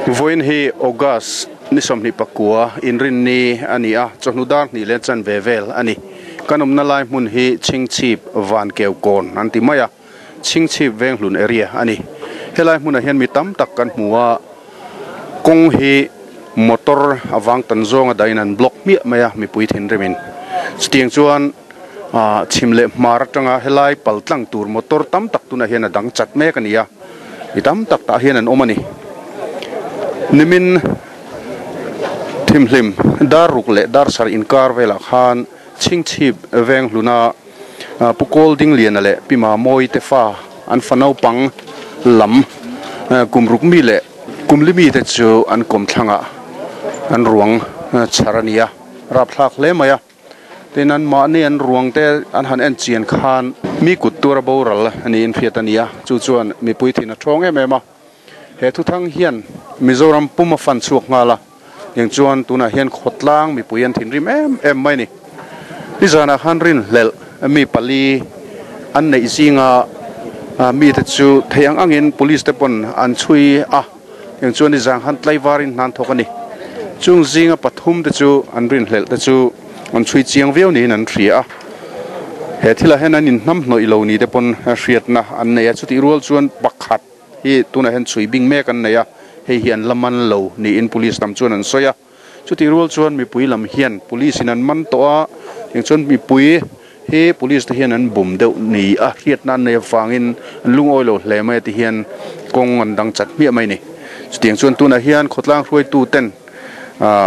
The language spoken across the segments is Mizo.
Vawiin hi August ni 29 inrinni a ni a, chawhnu dar hnih leh chanve vel a ni. Kan awmna lai hmun hi Chhingchhip Vankeu Kawn an ti mai a, Chhingchhip Venghlun area a ni. Helai hmunah hian mi tam tak kan hmu a, kawng hi motor avang tan zawnga dahin an block hmiah mai a, mipui thinrimin. Chutiang chuan chhim leh hmar atanga helai pal tlang tur motor tam tak tunah hian a dang chat mek a ni a, mi tam tak tah hian an awm a ni. Nimin thimhlim dar ruk leh dar sarh inkar velah khan Chhingchhip Venghluna Pu Kawl Dingliana leh Pi Mamawi te fa an fa naupang lam kum ruk mi leh kum li mite chu an kawmthlangah an ruang chhar a ni a, rapthlak hle mai a. Tin, an mahni an ruang te an han en chian khan mi kut tura boral a niin hriat a ni a, chu chuan mipui thin a thawng em em a. He thuthang hian Mizoram pum a fan chhuak nghal a, eng chuan tunah hian khawtlang mipui an thinrim em em mai a ni. Nizanah khan rinhlelh mi pali an neih zinga mite chu thei ang angin police te pawn an chhui a, eng chuan nizan khan tlaivarin hna an thawk a ni. Chung zinga pathum te chu an rinhlelh te chu an chhui chiang viau niin an hria a. He thilah hian an inhnamhnawih lo ni te pawn hriatna an nei a, chutih rual chuan pakhat hi tunah hian chhui bing mek an nei a, hei hi an la man lo niin police lam chuan an sawi a. Chutih rual chuan mipui lam hian police in an man tawh a, tiang chuan mipui hi police te hian an bum deuh ni a hriatna an nei avangin an lungawi lo hle mai a ti hian kawng an dang chat hmiah mai a ni. Chutiang chuan tunah hian khawtlang hruaitu ten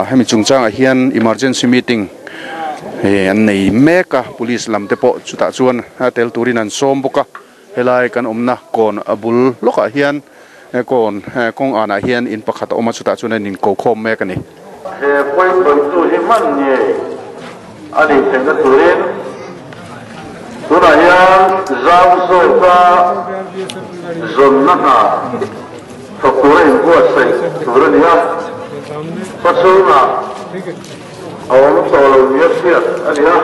hemi chungchangah hian emergency meeting an nei mek a, police lam te pawh chutah chuan tel turin an sawm bawk a. Helai kan awmna kawn a bul lawkah hian kawn kawng anah hian in pakhat a awm a, chutah chuan an inko khawm mek a ni. He pawisawitu hi hman ngei a nih theihna turin tunah hian zau zawka zawnna hna thawk tura inbuatsaih tur a ni a, khawchhungah a awm tawh lo nia hriat a ni a.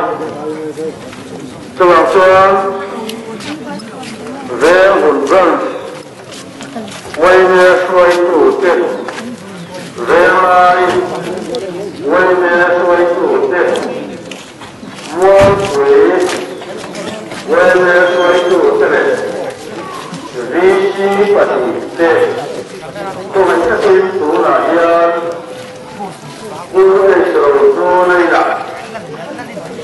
Chuvang chuan Veng hun Branch Uaime hruaitute, Venglai Uaime hruaitute, Mualpui Uaime hruaitute leh VC pahnihte kawng takin tunah hian Pu H Rochuna inah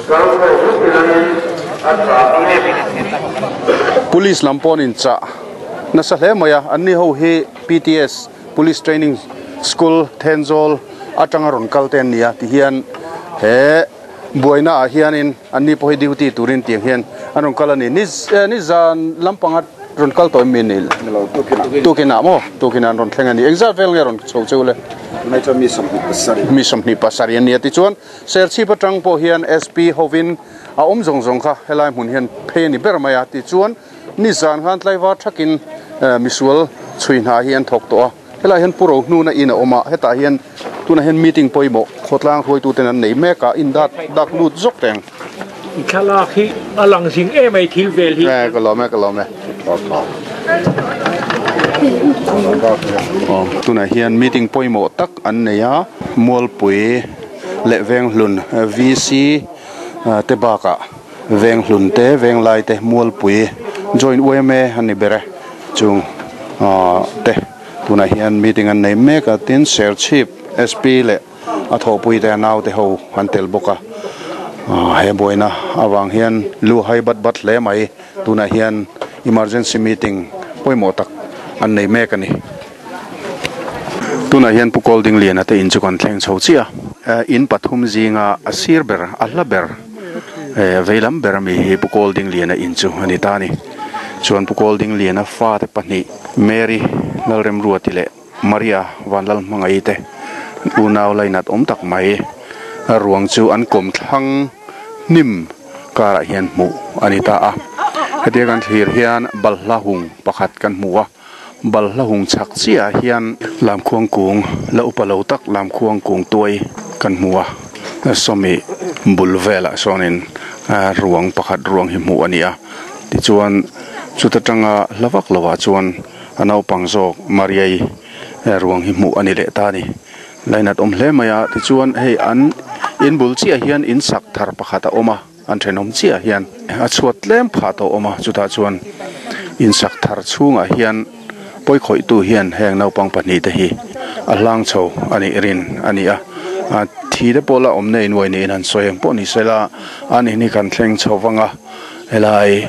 kal khawh vek ilangin a tha ang e. Police lam pawh an inchah nasa hle mai a, anni ho hi PTS, Police Training School, Thenzawl atanga rawn kal te an ni a, tihian he buaina ah hianin anni pawh hi duty turin tiang hian an rawn kal a ni. Nizan lampanga rawn kal tawh em mi ni? Tukinah maw? Tukinah an rawn thleng a ni. Engzat vel nge rawn chho cheu le? Tunai chuan mi 27. Mi 27 an ni a. Tichuan Serchhip atang pawh hian SP hovin a awm zawng zawng kha helai hmun hian phei a ni ber mai a. Tichuan nizan khan tlaivar thakin misual chhui hna hi an thawk tawh a. Helaiah hian Pu Rohnuna in a awm a, hetah hian tunah hian meeting pawimawh khawtlang hruaituten an nei mek a, in dat dak lut zawk teng. I thlalak hi a lang zing em ai thil vel hi. E ka lawm e ka lawm e. Aw tunah hian meeting pawimawh tak an nei a, Mualpui leh Venghlun VC te bakah Venghlun te, Venglai te, Mualpui Joint yma an ni ber e, chung te tunah hian meeting an nei mek a, tin Serchhip SP leh a thawhpui te a naute ho an tel bawk a, he buaina avang hian lu hai bat bat hle mai, tunah hian emergency meeting pawimawh tak an nei mek a ni. Tunah hian Pu Kawldingliana te in chu kan thleng chho chiah a, in pathum zinga a sir ber, a hla ber, veilam ber ami hi Pu Kawldingliana in chu a ni ta a ni. Chuan Pu Kawldingliana fate pahnih Mary Lalremruati leh Maria Vanlalhmangaih te unau lainat awm tak mai ruang chu an kawmthlang hnim karah hian hmuh a ni ta a. Hetia kan thlir hian balhla hung pakhat kan hmu a. Balhla hung chhak chiahah hian lamkhuang kung la upa lo tak lamkhuang kung tuai kan hmu a, sawmi bul velah sawnin ruang pakhat ruang hi hmuh a ni a, tichuan chuta tanga hla vak lovah chuan a naupang zawk Mariai Ruang hi hmuh a ni leh ta a ni. Lainat awm hle mai a, tichuan hei an in bul chiah hian in sak thar pakhat a awm a, an thenawm chiah hian a chhuat tlem phah tawh a awm a, chutah chuan in sak thar chhungah hian pawikhawihtu hian heng naupang pahnih te hi a hlang chho a nih rin a ni a, thi te pawh la awm nei nuai niin an sawi ang pawh ni se la, an in hi kan thleng chho vang a, helai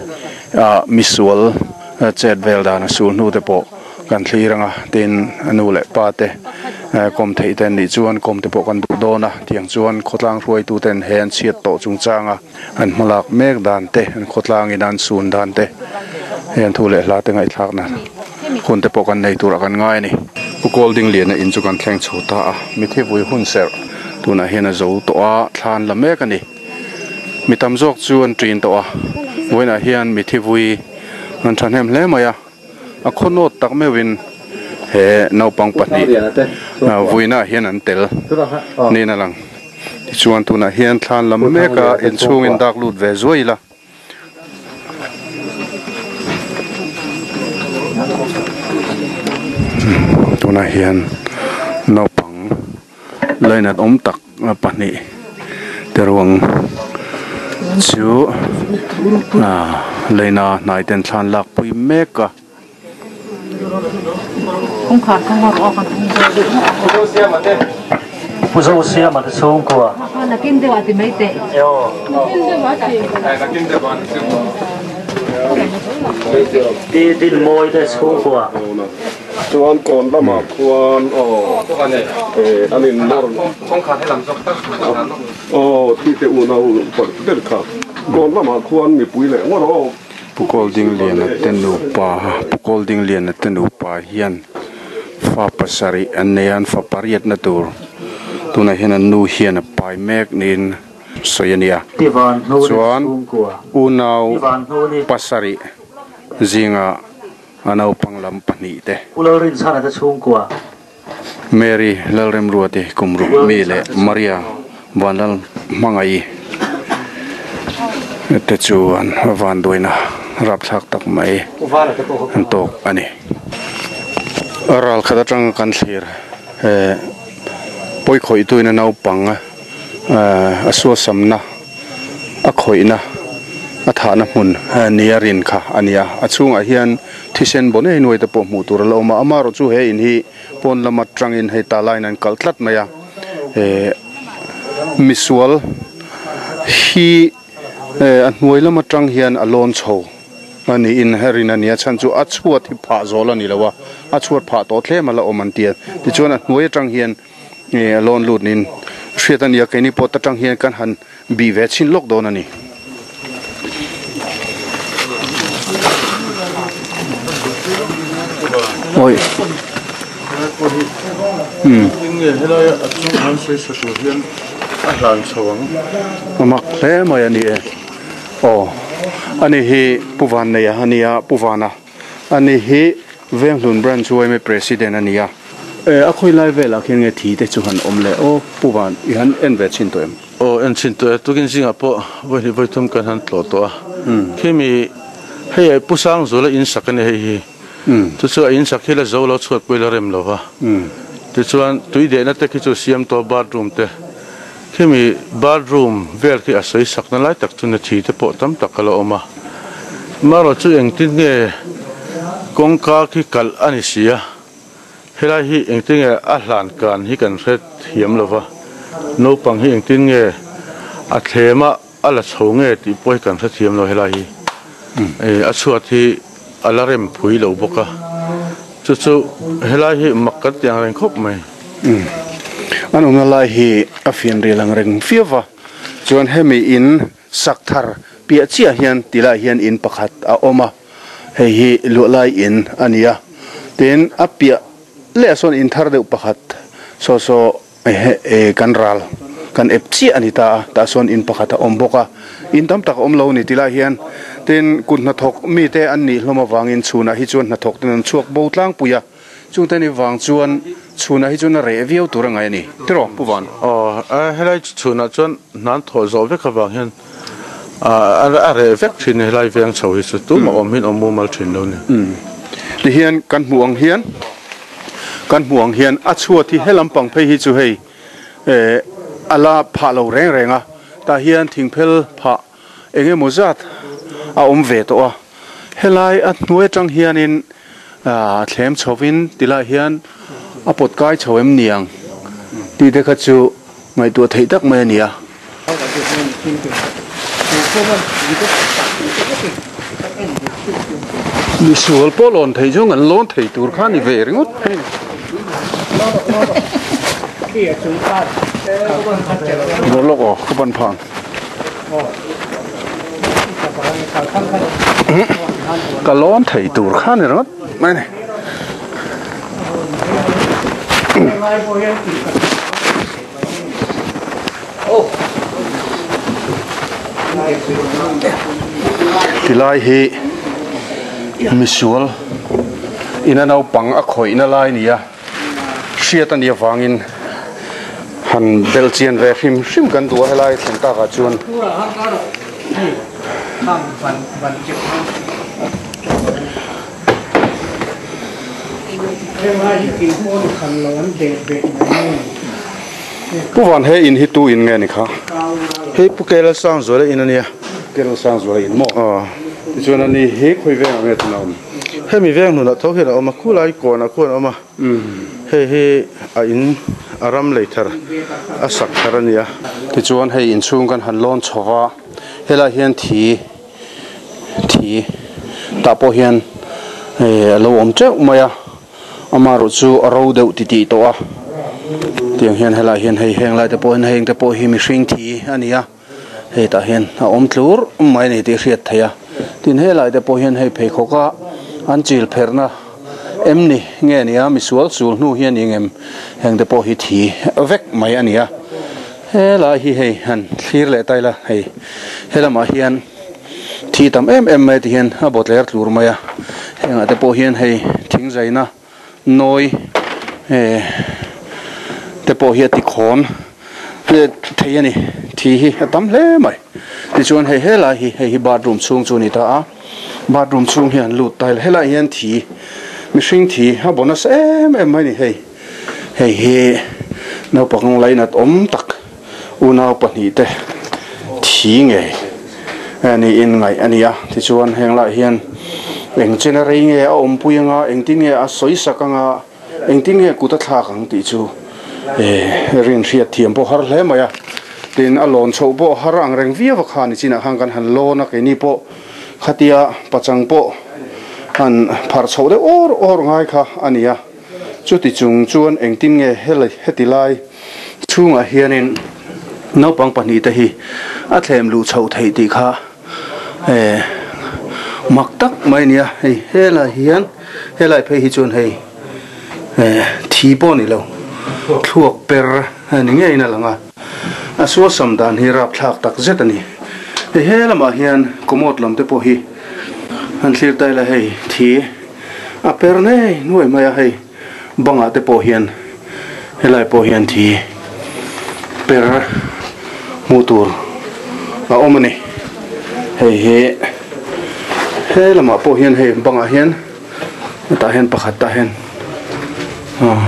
ah misual chet vel dan a sul hnu te pawh. Kan thlir anga tin a nu leh pa te kawm theih te an nih chuan kawm te pawh kan duh dawn a, tiang chuan khawtlang hruaitu ten he an chhiat tawh chungchanga an hmalak mek dan te, an khawtlangin an sun dan te hei an thu leh hla te ngaihthlakna hun te pawh kan nei turah kan ngai a ni. Pu Kawldingliana in chu kan thleng chho ta a, mithi vui hun serh tunah hian a zo tawh a, thla an la mek a ni. Mi tam zawk chu an ṭin tawh a, vawiinah hian mithi vui an ṭhahnem hle mai a. A khawnawt tak meuhin he naupang pahnih vuinaah hian an tel niin a lang. Tichuan tunah hian thlan lam meka inchhungin dak lut ve zuai ila. Tunah hian naupang lainat awm tak pahnih te ruang chu leina hnai ten thlan lak pui mek a. Chuan kawn lamah khuan aw eh an in nawr aw thi te unau pakhat ber kha kawn lamah khuan mipui leh ngawt aw. Pu Kawldingliana te nupa Pu Kawldingliana te nupa hian fa pasarih an nei a an fa pariatna tur tunah hian an nu hian a pai mek niin sawi a ni a chuan unau pasarih zingah. A naupang lam pahnih te. Pu Lalrinchhana te chhungkua. Mary Lalremruati kum ruk mi leh Maria Vanlal Hmangaih te chu an vanduaina rapthlak tak mai an tawk a ni. Ral khat atanga kan thlir pawikhawihtuin a naupang a suasamna a khawihna a thahna hmun nia rin kha a ni a, a chhungah hian thisen baw nei nuai te pawh hmuh tur a la awm a, amaherawhchu he in hi pawn lam atangin hei ta laiin an kalh tlat mai a, eh misual hi eh a hnuai lam atang hian a lawn chho a niin a rin a ni a, chhan chu a chhuat hi phah zawl a ni lo a, a chhuat phah tawh tlem a la awm an ti a, tichuan a hnuai atang hian. Nge a lawn lut niin hriat a nia, keini pawh ta tang hian kan han bih ve chhin lawk dawn a ni. Awi. Hmm. Nge helai a chung han sawi sa tur hian a hlan chho ang. A mak hle mai a ni e. Aw. Ani hi Pu Vanneia a nia, Pu Vana. Ani hi Venghlun Branch yma President a ni a. E, a khawi lai velah khian nge thi te chu han awm le aw, Pu Van, i han en ve chhin tawh em? Aw, en chhin tawh e, tukin zingah pawh vawi hnih vawi thum kan han tlawh tawh a. Khimi, hei a Pu Sangzula in sak a ni hei hi. Chu chu a in sak hi la zo lo chhuat pawh i la rem lo va. Tichuan, tui dehna te khi chu siam tawh bathroom te. Khimi bathroom vel khi a sawi sakna lai tak chu na thi te pawh tam tak a la awm a. Marawh chu engtin nge kawngka khi kalh a ni si a, helai hi engtin nge a hlan kan hi kan hre thiam lo va, naupang hi engtin nge a thlem a a la chho nge tih pawh hi kan hre thiam lo helai hi a chhuat hi a la rem phui lo bawk a, chu chu helai hi mak kan ti ang reng khawp mai. An awmna lai hi a fian rial ang reng viau va, chuan hemi in sak thar piah chiah hian ti lai hian in pakhat a awm a, hei hi luah lai in a ni a, tin a piah leh ah sawn in thar deuh pakhat saw saw kan ral kan ep chiah a ni ta a, tah sawn in pakhat a awm bawk a, in tam tak a awm lo a ni ti lai hian tin kut hnathawk mite an nih hlawm avangin chhunah hi chuan hnathawk ten an chhuak bo tlangpui a. Chungte ni vang chuan chhunah hi chuan a reh viau tur a ngai a ni. Tiraw, Pu Van? Aw, helai chhunah chuan hnan thawh zawh vek avang hian a reh vek thin a, helai veng chho hi chu tumah awm hian awm mumal thin lo a ni. Tihian kan hmuh ang hian Kan hmuh ang hian a chhuat hi he lampang phei hi chu hei eh a la phah lo reng reng a, tah hian thingphel phah eng emaw zat a awm ve tawh a. Helai a hnuai atang hianin ah thlem chhovin tilai hian a pawt kai chho em niang tih te kha chu ngaihtuah theih tak mai a ni a. Misual pawh lawn thei chu an lawn thei tur kha a ni ve ringawt. Rawh lawk aw ka ban phang. Ka lawn thei tur kha a ni ringawt mai a ni. Tilai hi misual ina naupang a khawihna lai a ni a, hriat a nih avangin han belh chian ve hrim hrim kan duh a helai thlen takah chuan. Pu Van he in hi tu in nge ni kha? Hei Pu Kela Sangzuala in a nia. Kela Sangzuala in maw? Aw. Tichuan a ni hi khawi veng ah nge tuna awm? Hemi veng hnunah tho hian a awm a, khulai kawnah khuan a awm a. Hei hi a in a ram lei thar a sak thar a nia. Tichuan hei inchhung kan han lawn chho va, helai hian thi. Thi tah pawh hian a lo awm teuh mai a, amaherawh chu a ro deuh titih tawh a, tiang hian helaiah hian hei heng lai te pawh hian heng te pawh hi mihring thi a ni a, hei tah hian a awm tlur mai a ni tih a hriat theih a, tin helai te pawh hian hei pheikhawk a an chil pherhna em ni nge a ni a, misual sul hnu hi a ni ngem heng te pawh hi thi vek mai a ni a. Helai hi hei han thlir leh ta ila hei helamah hian thi tam em em mai tihian a baw tler tlur mai a hengah te pawh hian hei thing zaina nawi eh te pawh hi a ti khawn thei a ni thi hi a tam hle mai tichuan hei helai hi hei hi bathroom chhung chu a ni ta a bathroom chhung hi an lut ta ila helaiah hian thi mihring thi a baw nasa em em mai a ni hei. Hei hi naupang lainat awm tak unau pahnihte thi ngei niin ngaih a ni a. Tichuan heng lai hian eng chena rei nge a awmpui anga, engtin nge a sawi sak anga, engtin nge kut a thlak ang tih chu rin hriat thiam pawh har hle mai a. Tin, a lawn chhoh pawh har ang reng viau a kha ni chinah khan kan han lawn a, keini pawh khatia pachang pawh han pharh chhoh deuh awr awr ngai kha a ni a. Chuti chung chuan engtin nge heti lai chhungah hianin naupang pahnihte hi a thlem luh chhoh theih tih kha mak tak mai a nia. Hei helai hian helai phei hi chuan hei thi pawh a ni lo, thluak per a ni ngeiin a lang a, a suasam dan hi rapthlak tak zet a ni. Hei he lamah hian commode lam te pawh hi han thlir ta ila hei thi. A per nei nuai mai a hei bangah te pawh hian helai pawh hian thi per hmuh tur a awm a ni hei hi he lamah pawh hian hei bangah hian hetah hian pakhat tah hian aw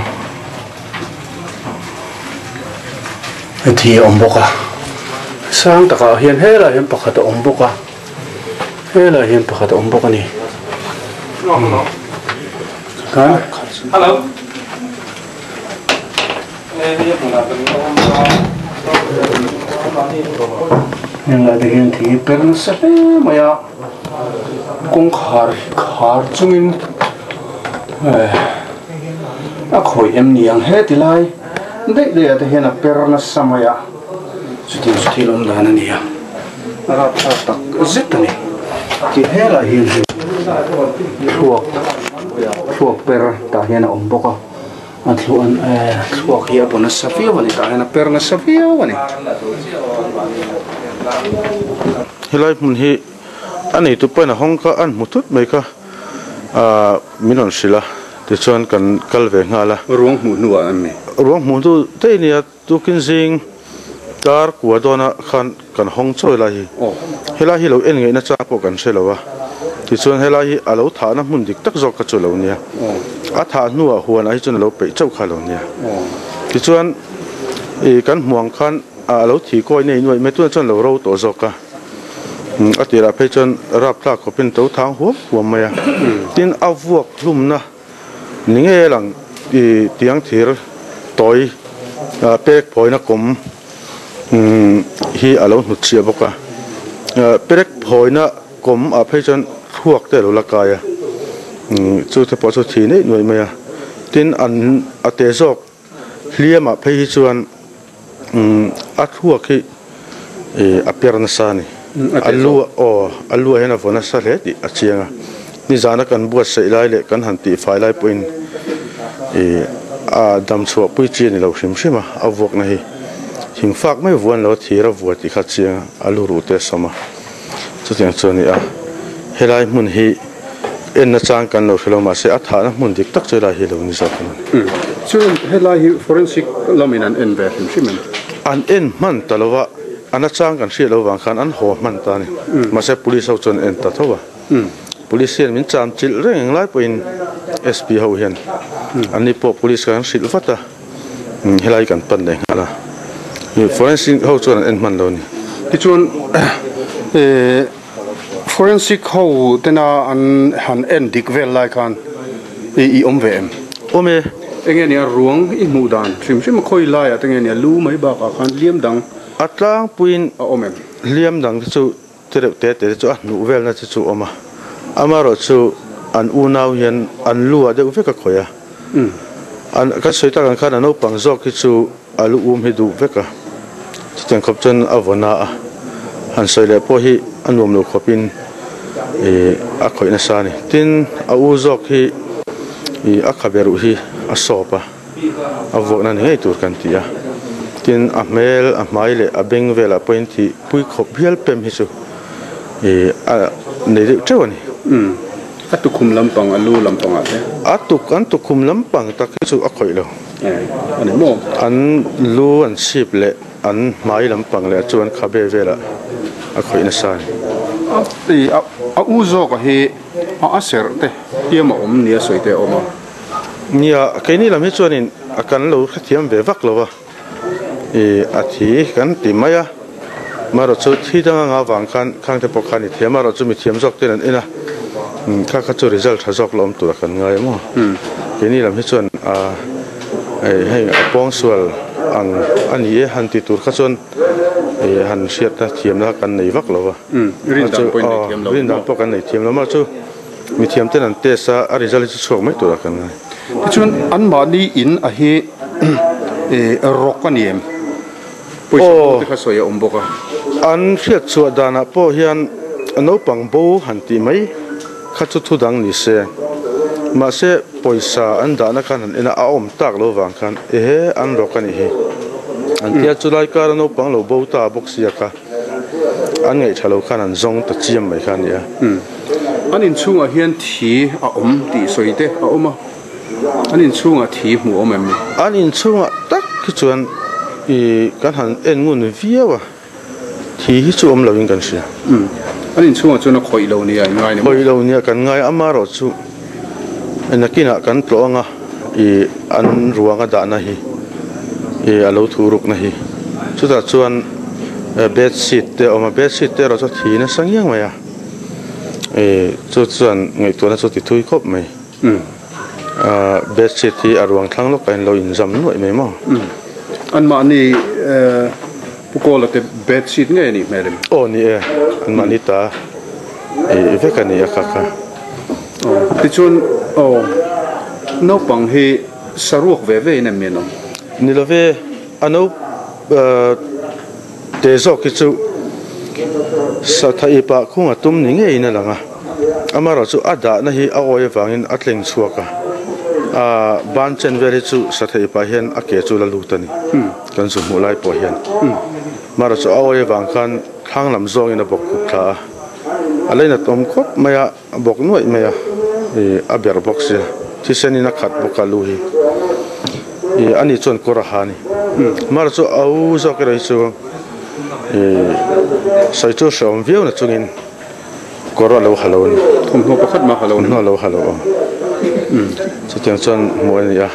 thi a awm bawk a sang takah hian helaiah hian pakhat a awm bawk a. Helai hian pakhat a awm bawk a ni. Heng lai te hian thing hi per nasa hle mai a, kawngkhar hi khar chungin a khawih em ni ang he ti lai daih daih ah te hian a per nasa mai a, chutiang chu thil awm dan a ni a. A rapthlak tak zet a ni. Tih helai hian hei thluak thluak per tah hian a awm bawk a, a thluak eh thluak hi a paw nasa viau a ni tah hian a per nasa viau a ni. Helai hmun hi a neitu pawhin a hawng kha an hmu thut mai kha ah min rawn hrilh a tichuan kan kal ve nghal a. Ruang hmuh hnuah an ni. Ruang hmuh hnu daih a nia. Tukin zing tar kua dawna khan kan hawng chawi lai hi helai hi lo en ngaihna chang pawh kan hre lo a. Tichuan helai hi a lo thahna hmun dik tak zawk kha chu a lo nia. A thah hnuah huanah hi chuan a lo peih chauh kha a lo nia. Tichuan ih kan hmuh ang khan a lo thi kawi nei nuaih mai tunah chuan a lo ro tawh zawk a. A tirah phei chuan rapthlak khawpin to thang huam huam mai a. Tin a vuak hlumna ni ngei lang ih tiang thir tawi pek phawina kawm hi a lo hnut chhiah bawk a. Perek phawina kawm ah phei chuan thluak te a lo la kai a, chu te pawh chu thi neih nuaih mai a. Tin an a te zawk hliam ah phei hi chuan a thluak hi a per nasa a ni. A lu aw a lu ah hian a vaw nasa hle tih a chiang a. Nizana kan buatsaih lai leh kan han tihfai lai pawhin a dam chhuah pui chi a ni lo hrim hrim a, a vuakna hi thingfak mai vuan lo a thir a vua tih kha a chiang a, a lu ruh te a sawm a. Chutiang chu a ni a, helai hmun hi enna chang kan lo hre lo mahse a thahna hmun dik tak chu helai hi lo ni zawk a ni. Chuan helai hi forensic lamin an en ve hrim hrim em? An en hman ta lo a, a nachang kan hriat lo vang khan an haw hman ta a ni. Mahse police ho chuan an en ta tho a. Police hian min cham chilh reng englai pawhin SP ho hian an ni pawh police kha an hrilh vat a, helai kan pan leh nghal a, forensic ho chuan an en hman lo a ni. Tichuan forensic ho tena an han en dik vel lai khan i awm ve em? Awm e. Enge nia ruang i hmuh dan hrim hrim a khawi laiah te nge nia lu mai bakah khan hliam dang A tlangpuiin a awm em? Hliam dang te chu Ti reuh te te chu a hnuh velna chu chu awm a, amaherawh chu an unau hian an lu ah deuh vek a khawih a, an kan sawi tak ang khan a naupang zawk hi chu a lu um hi duh vek a, chutiang khawp chuan a vaw na a, han sawi leh pawh hi a nuam lo khawpin ih a khawih nasa a ni. Tin, a u zawk hi ih a khabe ruh hi a sawp a. A vuakna ni ngei tur kan ti a, tin a hmel, a hmai leh a beng velah pawhin thih pui khawp hial pem hi chu ih a nei deuh teuh a ni. Umm, a tukhum lampang, a lu lampangah te? A tuk, an tukhum lampang tak hi chu a khawih lo. Eh, a ni maw? An lu an chhip leh an hmai lampang leh chu an khabe velah a khawih nasa a ni. A, a u zawka hi a a serh te hliam a awm nia sawi te a awm a. Nia, keini lam hi chuanin a kan lo hrethiam ve vak lo a, ih a thi kan ti mai a, marawh chu thi dang anga vang khan khang te pawh khan i thiam marawh chu mithiam zawk ten an en a, kha kha chu result tha zawk la awm tura kan ngai maw. Keini lam hi chuan a hei a pawngsual ang a ni e han ti tur kha chuan ih han hriatna thiamna kan nei vak lo a, rindan pawh kan nei thiam lo marawh chu. Mithiam ten an test a, a result hi chu chhuak mai turah kan ngai. Tichuan anmahni in a hi rawk a ni em? Pawisa bo te kha sawi a awm bawk a. An hriat chhuah danah pawh hian naupang bo han tih mai kha chu thu dang ni se. Mahse pawisa an dahna khan han en a, a awm tak lo vang khan ehe an rawk a nih hi. An tia chulai kara naupang lo bo ta bawk sia kha. An ngaih tha lo khan an zawng ta chiam mai kha a ni a. An inchhungah hian thi a awm tih sawi te a awm a, an inchhungah thi hmuh a awm em ni? An inchhungah tak hi chuan ih kan han en ngun viau a, thi hi chu awm loin kan hria. An inchhungah chuan a khawih lo nia in ngai ni maw? Khawih lo nia kan ngai a, amaherawh chu nakinah kan tlawh anga ih an ruang a dahna hi ih a lo thu rukna hi chutah chuan bed sheet te a awm a, bed sheet te erawh chu a thi nasa ngiang mai a ih chu chuan ngaihtuahna chu a ti thui khawp mai ah bed sheet hi a ruang thlang lawkah hian lo inzam nuaih mai maw. Anmahni Pu Kawla te bed sheet ngei a nih hmel em? Aw ni e, anmahni ta ih vek a ni a kha kha. Aw tichuan aw naupang hi saruak ve ve in em mi an awm? Ni lo ve, a no te zawk hi chu satha ipah khung a tum ni ngeiin a lang a, amaherawh chu a dahna hi a awi avangin a tleng chhuak a, ban chen vel hi chu satha ipah hian a ke chu la lut a ni. Kan zu hmuh lai pawh hian Mara chu a awi avang khan thlang lam zawngin a bawk khup thla a, a leinat awm khawp mai a, a bawk nuaih mai a, ih a berh bawk sia, thisenin a khat bawk a lu hi, ih ani chuan kawr a ha a ni. Mara chu a u zawk erawh hi chu ih sawi chu hrehawm viau na chungin kawr a lo ha lo a ni. Thawmhnaw pakhat mah ha lo. Thawmhnaw lo ha lo aw. Chutiang chuan hmuh a ni a,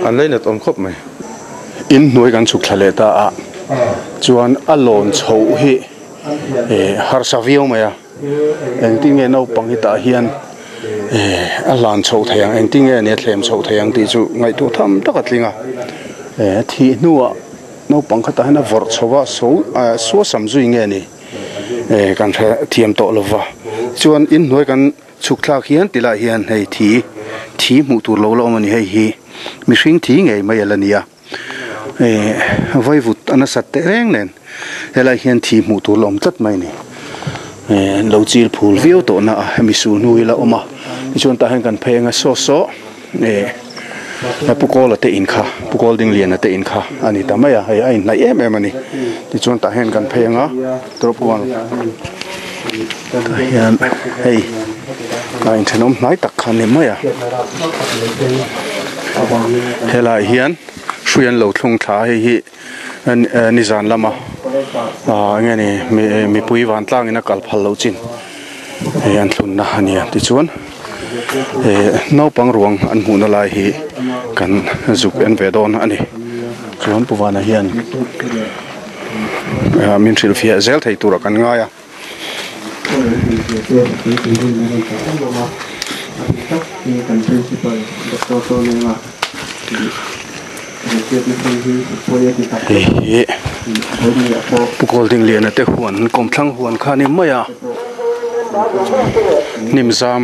an lainat awm khawp mai. In hnuai kan chhuk thla leh ta a, chuan a lawn chhoh hi harsa viau mai a. Engtin nge naupang hi tah hian a hlan chhoh thei ang, engtin nge nia thlem chhoh thei ang tih chu ngaihtuah tham tak a tling a. Thih hnuah naupang kha tah hian a vawrh chho a, so suasam zui nge ni kan hre thiam tawh lo va. Chuan inhnuai kan chhuk thlak hian ti lai hian hei thi thi hmuh tur lo la awm a ni, hei hi mihring thi ngei mai a la ni a. Vaivut a nasat teh reng nen helai hian thi hmuh tur la awm tlat mai a ni. Lo chil phul viau tawh na a hemi su hnu hi la awm a tichuan tah hian kan phei anga saw saw Pu Kawla te in kha Pu Kawldingliana te in kha a ni ta mai a hei a inhnaih em em a ni. Tichuan tah hian kan phei anga drop one tah hian hei a inthenawm hnai tak kha a ni mai a helaiah hian hrui an lo thlung thla a hei hi nizan lama ah eng nge ni mipui vantlangin a kal phal loh chin hei an thlunna a ni a tichuan eh naupang ruang an hmuhna lai hi kan zuk en ve dawn a ni chuan Pu Vana hian. Min hrilhfiah zel thei turah kan ngai a. Hei hi Pu Kawldingliana te huan kawmthlang huan kha a ni mai a, hnim zam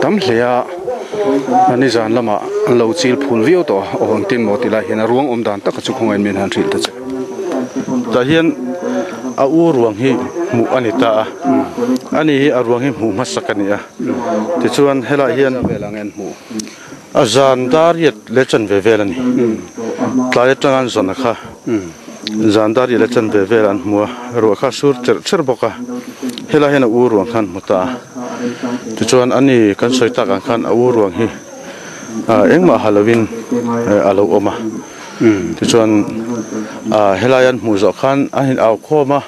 tam hle a, nizan lamah an lo chil phul viau tawh a, aw engtin maw ti lai hian a ruang awm dan taka chu khawngaih min han hrilh ta che. Tah hian a u ruang hi hmuh a ni ta a, ani hi a ruang hi hmuh hmasak a ni a, tichuan helaiah hian a zan dar riat leh chanve vel a ni, tlai atanga an zawn a kha zan dar riat leh chanve vel an hmu a, ruah kha a sur cherh cherh bawk a, helaiah hian a u ruang kha an hmu ta a, tichuan ani kan sawi tak ang khan a u ruang hi engmah ha lovin a lo awm a. Tichuan helai an hmuh zawh khan an in au khawm a,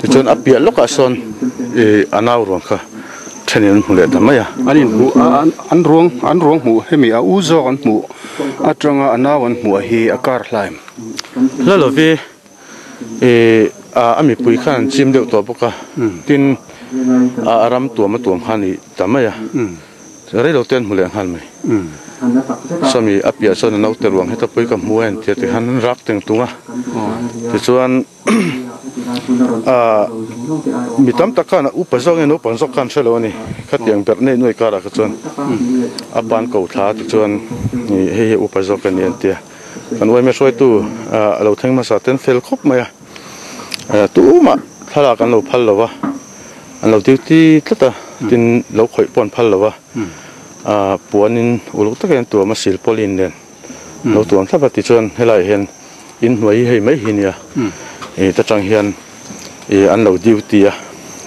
tichuan a piah lawkah sawn ih a nau ruang kha thenin an hmu leh ta mai a. An in hmuh a an ruang an ruang hmuh hemi a u zawk an hmuh atanga a nau an hmuh hi a kar hlaim. Hla lovi ih a mipui khan an chim deuh tawh bawk a, tin a ram tuam a tuam kha a ni ta mai a. Rei lo te an hmu leh nghal mai. Sawmi a piah chuan a naute ruang heta pui ka hmu a entir ti khan an rak teng tung a. Tichuan ah mi tam tak khan a upa zawk nge naupang zawk khan hre lo a ni. Khatiang berh nei nuai karah kha chuan a pan ko thla tichuan hei hi upa zawk a ni an ti a. Kan uaime hruaitu a lo thleng hmasa ten fel khawp mai a. Tumah thlalak an lo phal lo va. An lo duty tlat a, tin lo khawih pawh an phal lo a, puanin uluk takin an tuam a, silpawlin nen lo tuam thlap a, tichuan helaiah hian inhnuai hi hei mai hi nia, ih ta tang hian ih an lo duty a,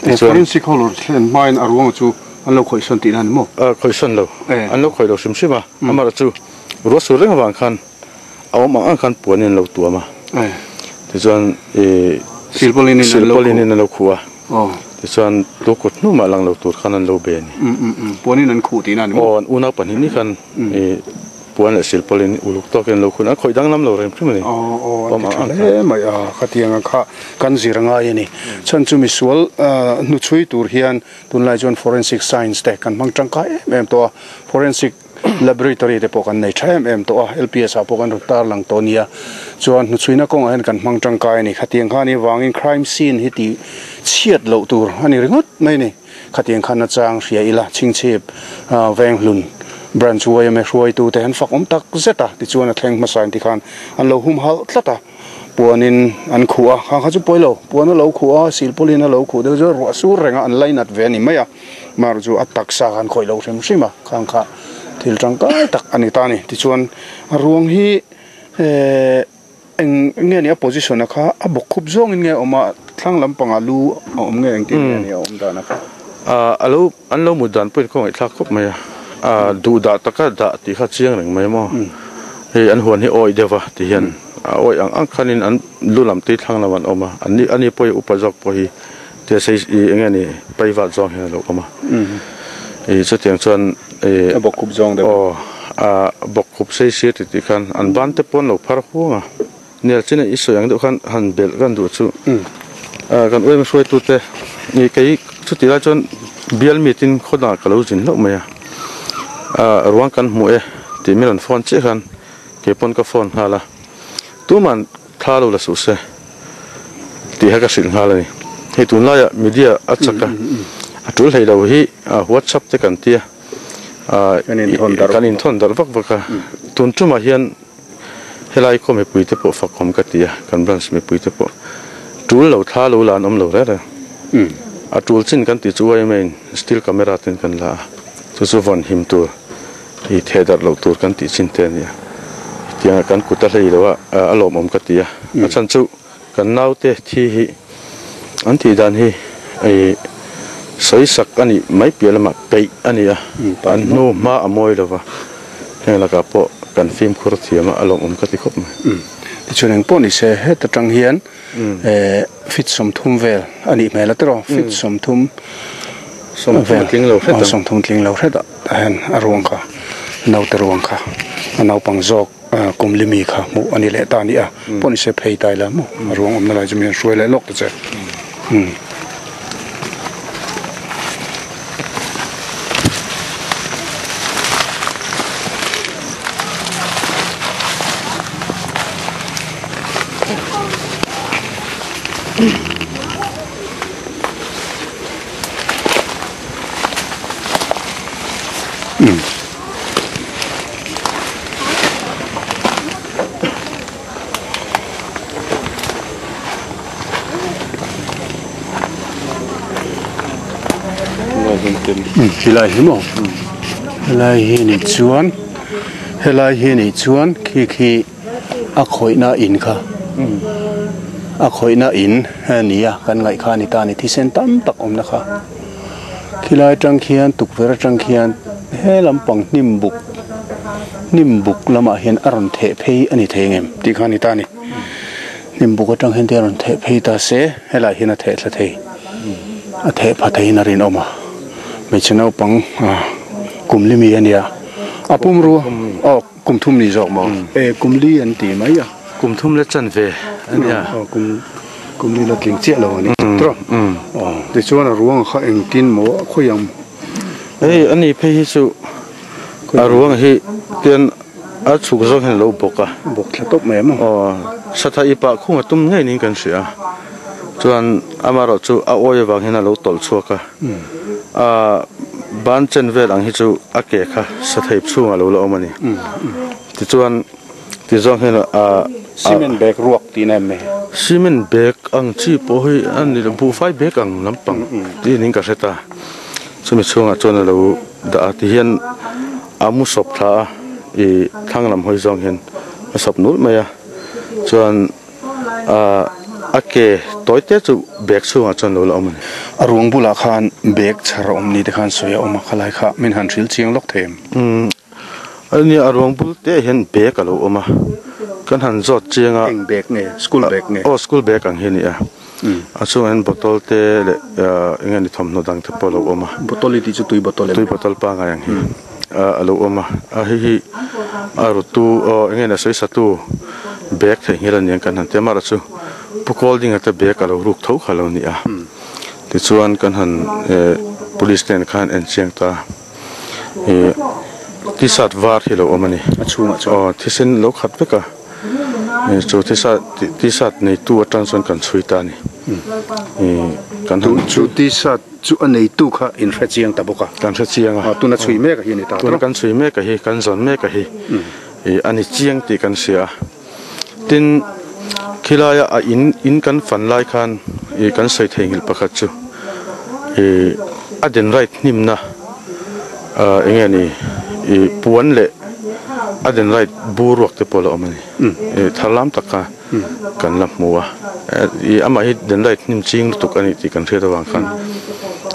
tichuan. Forensic ho lo thlen hmain a ruang chu an lo khawihsawn tihna a ni maw? Khawihsawn lo, an lo khawih lo hrim hrim a, amaherawhchu ruah sur reng avang khan a awm ang ang khan puanin an lo tuam a, tichuan ih silpawlin in an lo khuh a. Tichuan tu kut hnumah lang lo tur khan an lo be a ni. Puanin an khuh tihna a ni maw? Aw, an unau pahnih ni khan puan leh silpawlin uluk tawkin an lo khuh a, an khawih danglam lo reng hrim a ni. Aw, aw, an ti tha hle mai a, khatiang ang kha kan zir ngai a ni. Chhan chu misual hnuchhui tur hian tunlai chuan forensic science te kan hmang tangkai em em tawh a, forensic Laboratory te pawh kan nei tha em em tawh a, LPS ah pawh kan rawn tar lang tawh nia. Chuan hnuchhuina kawngah hian kan hmang tangkai a ni. Khatiang khan i vangin crime scene hi tih chhiat loh tur a ni ringawt mai a ni. Khatiang khan nachang hria ila Chhingchhip Venghlun Branch yma hruaitu te an fak awm tak zet a, tichuan a thleng hmasa in tikhan an lo humhalh tlat a, puanin an khuh a, khang kha chu pawi lo, puan a lo khuh a, silpawlin a lo khuh deuh chu ruah sur reng a an lainat ve a ni mai a. Mar chu a taksa khan khawih lo hrim hrim a, khang kha thil tangkai tak a ni ta a ni. Tichuan a ruang hi ehh eng nge ni a position a kha a bawk khup zawngin nge a awm a, thlang lampangah lu a awm nge engtin nge ni a awm dan a kha. Ah a lo an lo mut dan pawhin khawngaih thlak khawp mai a, ah duh dah taka dah tih kha chiang reng mai maw. Hei an huan hi awih deuh va ti hian a awih ang ang khanin an lu lam tui thlang lam an awm a, an ni ani pawh hi upa zawk pawh hi. Tia sei ih eng nge ni paivat zawng hian a lo awm a ih chutiang chuan ih A bawkkhup zawng deuh. Aw a bawkkhup sei sir ti tih khan an ban te pawh an lo phar huang a nel chin a i sawi ang deuh khan han belh kan duh chu kan uaima hruaitu te ih kei chutih lai chuan bial meeting khaw dangah ka lo zin hlauh mai a ruang kan hmu e tih min rawn phone chiah khan kei pawn ka phone nghal a tuman Thla lo la suh se tih kha ka hrilh nghal a ni. Hei tunlaiah media a chak a, a tul hlei lo hi WhatsApp te kan tia kan inthawn darh vak vak a. Tun tumah hian helai khaw mipui te pawh fakawm ka ti a, kan branch mipui te pawh tul lo thla lo la an awm lo reng reng. A tul chin kan tih chu yma in still camera ten kan la a, chu chu vawn him tur. I theh darh loh tur kan tih chin te a nia. Hetianga kan kut a hlei lo a, a lawmawm ka ti a. A chhan chu kan naute thi hi an tih dan hi i sawi sak a nih mai piah lamah peih a ni a, an hnu hma a mawi lo va, heng lakah pawh kan fimkhur thiam a, a lawmawm ka ti khawp mai. Tichuan engpawh ni se heta tang hian Feet 30 vel a nih hmel a tiraw feet 30 vel tling lo hret ang 30 tling lo hret ah tah hian a ruang kha naute ruang kha a naupang zawk kum li mi kha hmuh a ni leh ta a ni a pawh ni se phei ta ila maw a ruang awmna lai chu mi an hruai leh lawk ta che. Helai hi maw helai hi ni chuan helai hi ni chuan khi khi a khawihna in kha a khawihna in a ni a kan ngaih kha a ni ta a ni thisen tam tak awmna kha khilai atang khian tukverh atang khian he lampang hnim buk hnim buk lamah hian a rawn theh phei a ni thei ang em tih kha a ni ta a ni hnim buk atang hian te a rawn theh phei ta se helaiah hian a theh thla thei a theh pha theiin a rinawm a hmeichhe naupang kum li mi a nia a pumrua aw. Kum thum ni zawk maw? E, kum li an ti mai a. Kum thum la chan ve a nia. Aw, kum kum li la tling chiah lo a ni. Tawh. Aw, tichuan a ruang kha engtin maw a khawi ang? Hei a ni phei hi chu a ruang hi tian a chhuk zawng hian a lo bawk a. Bawk thla tawp mai maw? Aw, satha i pah khung a tum ngei niin kan hria a. Chuan amaherawh chu a awi avang hian a lo tawlh chhuak a. A ban chen vel ang hi chu a ke kha satheip chhungah lo la awm a ni. Tichuan tizawng hian a Cement bag ruak tih na em ni? Cement bag ang chi pawh hi a ni lo, buhfai bag ang lampang tih niin ka hre ta. Chumi chhungah chuan a lo dah a, tihian a mu sawp thla a, ih thlang lam hawi zawng hian a sawp nulh mai a, chuan. A ke tawi te chu bag chhungah chuan lo la awm a ni. A ruang bulah khan bag chhar a awm ni te khan sawi a awm a, khalai kha min han hrilh chiang lawk thei em? Umm ania a ruang bul te hian bag a lo awm a, kan han zawt chiang a. Eng bag nge? School bag nge? Aw school bag ang hi a ni a, a chhungah hian bottle te leh eng nge ni thawmhnaw dang te pawh a lo awm a. Bottle i tih chu tui bottle em? Tui bottle pangngai ang hi a lo awm a, a hei hi a rutu aw eng nge ni a sawi satu. Bag theihnghilh a niang kan han ti a, amaherawhchu Pu Kawldinga te bag a lo ruk tho kha lo ni a, tichuan kan han police te khan en chiang ta ih t-shirt var hi lo awm a ni, a chhungah chuan aw thisen lo khat vek a, chu t-shirt t-shirt neitu atang chuan kan chhui ta a ni, ih kan han chu t-shirt chu a neitu kha in hre chiang ta bawk a, kan hre chiang a, tuna chhui mek a hi a ni ta, tuna kan chhui mek a hi kan zawn mek a hi. Ih a ni chiang tih kan hria a, tin khilaia a in in kan fan lai khan ih kan sawi thei nghilh pakhat chu ih a den right hnimna ah eng nge ni ih puan leh a den right bur ruak te pawh a la awm a ni ih thar lam tak kha kan la hmu a ih amah hi den right hnim ching lutuk a ni tih kan hriat avang khan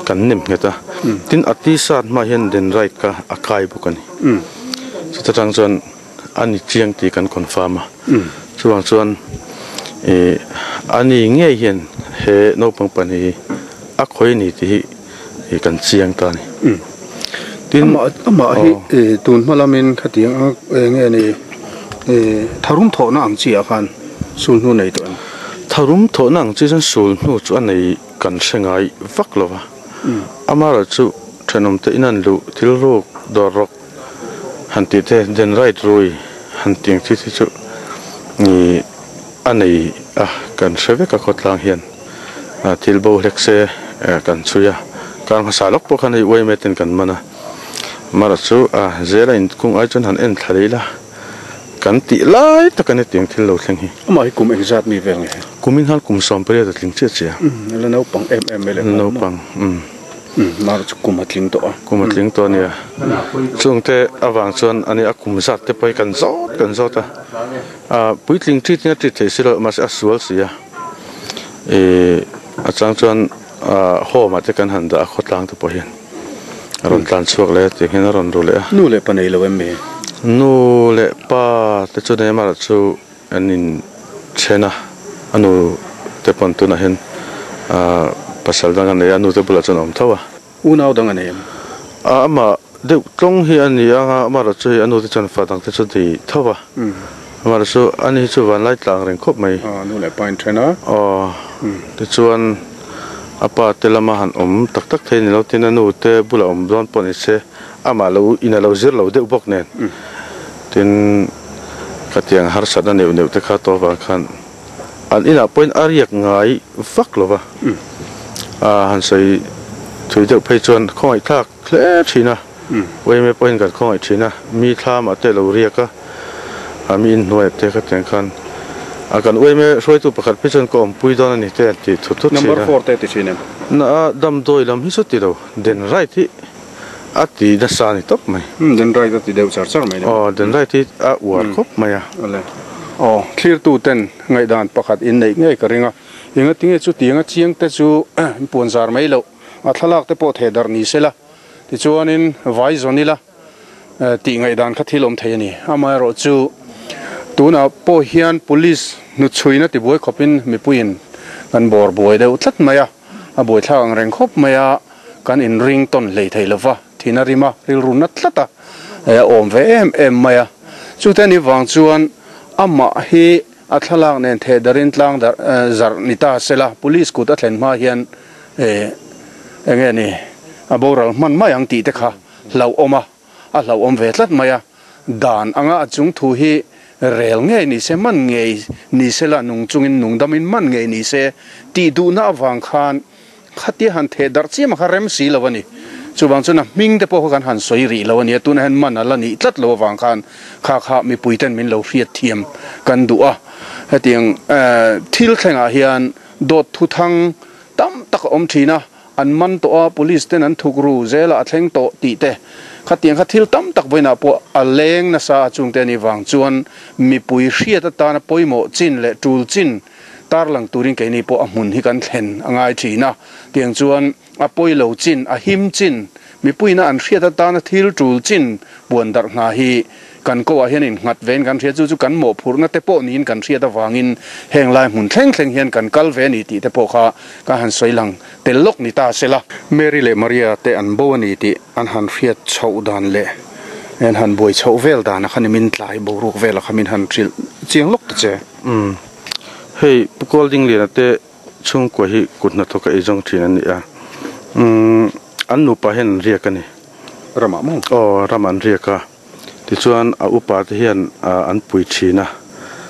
kan nem nghet a, tin a t-shirt hmaah hian den right kha a kai bawk a ni. Chuta tang chuan a ni chiang tih kan confirm a, chuvang chuan ih a ni ngei hian he naupang pahnih hi a khawi a ni tih hi ih kan chiang ta a ni. Tin, Amah amah hi ih tun hma lamin khatiang a eng nge ni ih tharum thawhna ang chi ah khan sul hnu nei tawh em? Tharum thawhna ang chi chuan sul hnu chu a nei kan hre ngai vak lo va. Amaherawhchu thenawm te in an luh thil ruk dawr rawk han tih te den right rui han tih ang chi te chu ih a nei a kan hre vek a khawtlang hian thil bo hlek se kan chhui a kar hmasa lawk pawh khan hei uaime ten kan man a amaherawhchu zela inkung ai chuan han en thla leh ila. Kan tih lai tak a ni tiang thil lo thleng hi. Amah hi kum engzat mi vel nge? Kumin khan kum 18 a tling chiah chiah. Umm la naupang em em mai leh nghal maw? Naupang umm. Umm mar chu kum a tling tawh a. Kum a tling tawh a nia. Chungte avang chuan a nia a kum zat te pawh hi kan zawt kan zawt a. Ah puitling treat in a treat thei si lo mahse a sual si a. Ih a chang chuan ah home ah te kan han dah a khawtlang te pawh hian. A rawn tlan chhuak leh a tih hian a rawn ru leh a. Nu leh pa nei lo em mi? Nu leh pa te chu Neymar chu an in then a, a nu te pawn tunah hian pasal dang a nei a, a nu te bulah chuan a awm tho a. Unau dang a nei em? A amah deuh tlawng hi a ni ang a, amah erawh chu hei a nu te chuan fa dang te chu nei tho a. Amah erawh chu ani hi chu vanlai tlang reng khawp mai. Nu leh pa in then a. Aw, tichuan. A pa te lama han awm tak tak thei ni lo tin a nu te bulah awm dawn pawh ni se amah lo in a lo zir lo deuh bawk nen tin khatiang harsatna neuh neuh te kha tawh avang khan an inah pawhin a riak ngai vak lo va a han sawi thui deuh phei chuan khawngaihthlak hle thin a uaime pawhin kan khawngaih thin a mi thlamah te lo riak a a mi inhnuaiah te khatiang khan a kan uaime hruaitu pakhat phei chuan ka awmpui dawn a ni te an ti thut thut thin a. Number four te ti thin em? Na a damdawi lam hi chu ti lo den right hi a ti nasa a ni tawp mai. Umm den right a ti deuh char char mai ni. Aw den right hi a uar khawp mai a. Awle. Aw thlirtu ten ngaihdan pakhat inneih ngei ka ring a engatinge chutianga chiang te chu puan zar mai loh a thlalak te pawh theh darh ni sela. Tichuanin vai zawn ila tih ngaihdan kha thil awm thei a ni. Amaherawhchu tunah pawh hian police hnuchhuina tibuai khawpin mipuiin kan bawr buai deuh tlat mai a, a buaithlak ang reng khawp mai a, kan inring tawn hlei thei lova, thina rima rilru na tlat a, a awm ve em em mai a. Chute anih vang chuan amah hi a thlalak nen theh darin tlang darh zarh ni ta sela, police kut a thlen hma hian Eng nge ni, a boral hman mai ang tih te kha hlauhawm a, a hlauhawm ve tlat mai a. Dan anga a chung thu hi rel ngei ni se, man ngei ni se la, nung chungin nung damin man ngei ni se tih duhna avang khan khatia han theh darh chiam a kha rem si lo a ni. Chuvang chuan a hming te pawh kha kan han sawi rih lo a nia, tunah hian man a la nih tlat lo avang khan kha kha mipui ten min lo hriatthiam kan duh a. Hetiang thil thlengah hian Dawt thuthang tam tak a awm thin a, an man tawh a, police ten an thuk ru zel a, a thleng tawh tih te. Khatiang kha thil tam tak vawiinah pawh a leng nasa a chungte a nih vang chuan mipui hriat atana pawimawh chin leh tul chin tarlang turin keini pawh a hmun hi kan thlen a ngai thin a. Tiang chuan a pawilo chin, a him chin, mipuiina an hriat atana thil tul chin puan darh hna hi Kan ko ah hian innghat vein kan hria, chu chu kan mawhphurhna te pawh niin kan hriat avangin heng lai hmun thleng thleng hian kan kal ve a ni tih te pawh kha ka han sawi lang tel lawk ni ta se la. Mary leh Maria te an bo a ni tih an han hriat chhoh dan leh an han buai chhoh vel dan a kha ni min tlai boruak vel a kha min han hrilh chiang lawk ta che. Umm hei Pu Kawldingliana te chhungkua hi kut hnathawk a eizawng thin an ni a, umm an nupa hian an riak a ni. Ramah maw? Aw ramah an riak a. Tichuan a upa te hian an pui thin a.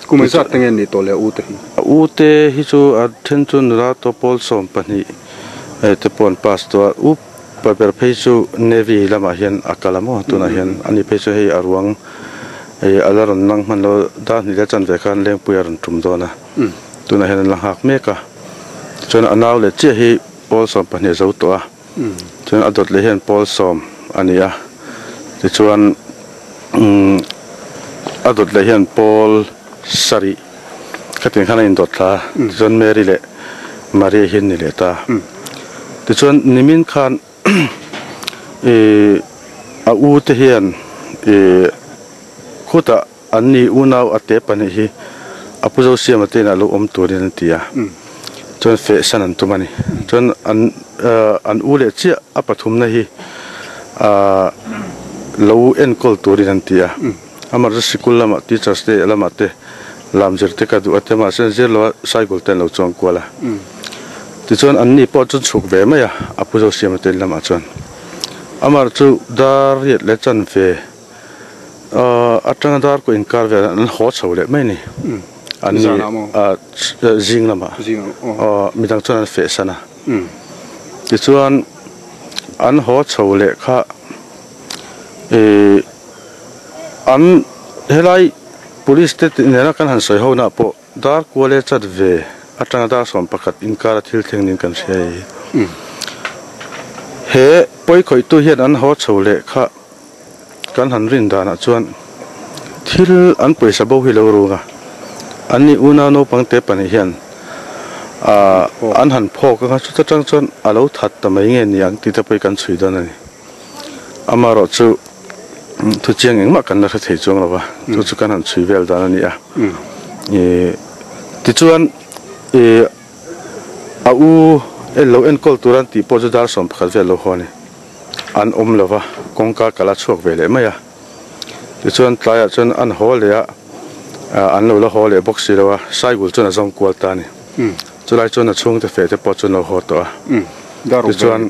Kum engzat te nge an nih tawh le a u te hi? A u te hi chu a then chu nula tawh pawl 12 te pawh an pass tawh a, upa ber phei chu Navy lamah hian a kal a maw tunah hian ani phei chu hei a ruang a la rawn lang hman lo dar hnih leh chanve khan Lengpui a rawn tum dawn a, tunah hian an la nghak mek a. Tichuan a nau leh chiah hi pawl 12 a zo tawh a. Chuan a dawt leh hian pawl sawm a ni a, tichuan a dawt leh hian pawl sarih khatiang khan a indawt thla a, tichuan Mary leh Maria hi an ni leh ta. Tichuan nimin khan ih a u te hian ih khutah an ni unau a te pahnih hi a pu Zosiama te inah lo awm turin an ti a. Chuan feh san an tum a ni. Chuan an an u leh chiah a pathumna hi ahh lo enkawl turin an ti a. Amaherawhchu sikul lamah teachers te lamah te lam zir te ka duh a ti a, mahse an zir lo a cycle te an lo chuang kual a. Tichuan an ni pawh chu chhuk ve mai a, a pu Zosiama te in lamah chuan. Amaherawhchu dar riat leh chanve atanga dar kawh inkar velah an haw chho leh mai a ni. An ni zing lamah midang chuan an feh san a. Tichuan an haw chho leh kha ih an helai police te nena kan han sawi ho na pawh dar kual e chat ve atanga dar 11 inkar a thil thleng niin kan hria hei hi. He pawi khawihtu hian an haw chho leh kha kan han rin danah chuan thil an pawisa bo hi lo rung a, an ni unau naupang te pahnih hian ah an han phawk anga chuta tang chuan a lo that ta mai nge ni ang tih te pawh hi kan chhui dawn a ni. Amaherawh chu thu chiang engmah kan la hre thei chuang lo va, chu chu kan han chhui vel dan a ni a. Ih tichuan ih a u en lo enkawl tur an tih pawh chu dar 11 vel lo haw a ni. An awm lo va, kawngka kal a chhuak ve leh mai a. Tichuan tlaiah chuan an haw leh a, an lo la haw leh bawk si lo a, Saigul chuan a zawng kual ta a ni. Chulai chuan a chhungte feh te pawh chu an lo haw tawh a. Tichuan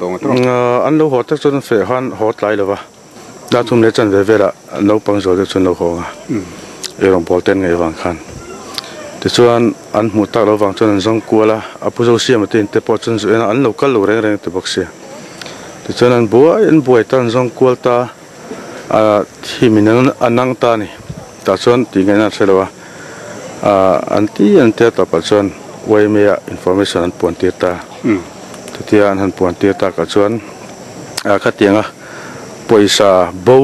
an lo haw tak chuan feh khan haw tlai lo va, dar thum leh chanve velah naupang zual deuh chu an lo haw ang a, eirawng pawl te an ngaih vang khan. Tichuan an hmuh tak lo vang chuan an zawng kual a, a pu Zosiama te in te pawh chuan zu en a, an lo kal lo reng reng ti bawk sia. Tichuan an buai an buai ta an zawng kual ta a thim in a nang ta a ni. Tah chuan tih ngaihna an hre lo a, ah an ti an tia tawpah chuan YMA ah information an puan tir ta. Chutia an han puan tir takah chuan ah khatianga pawisa bo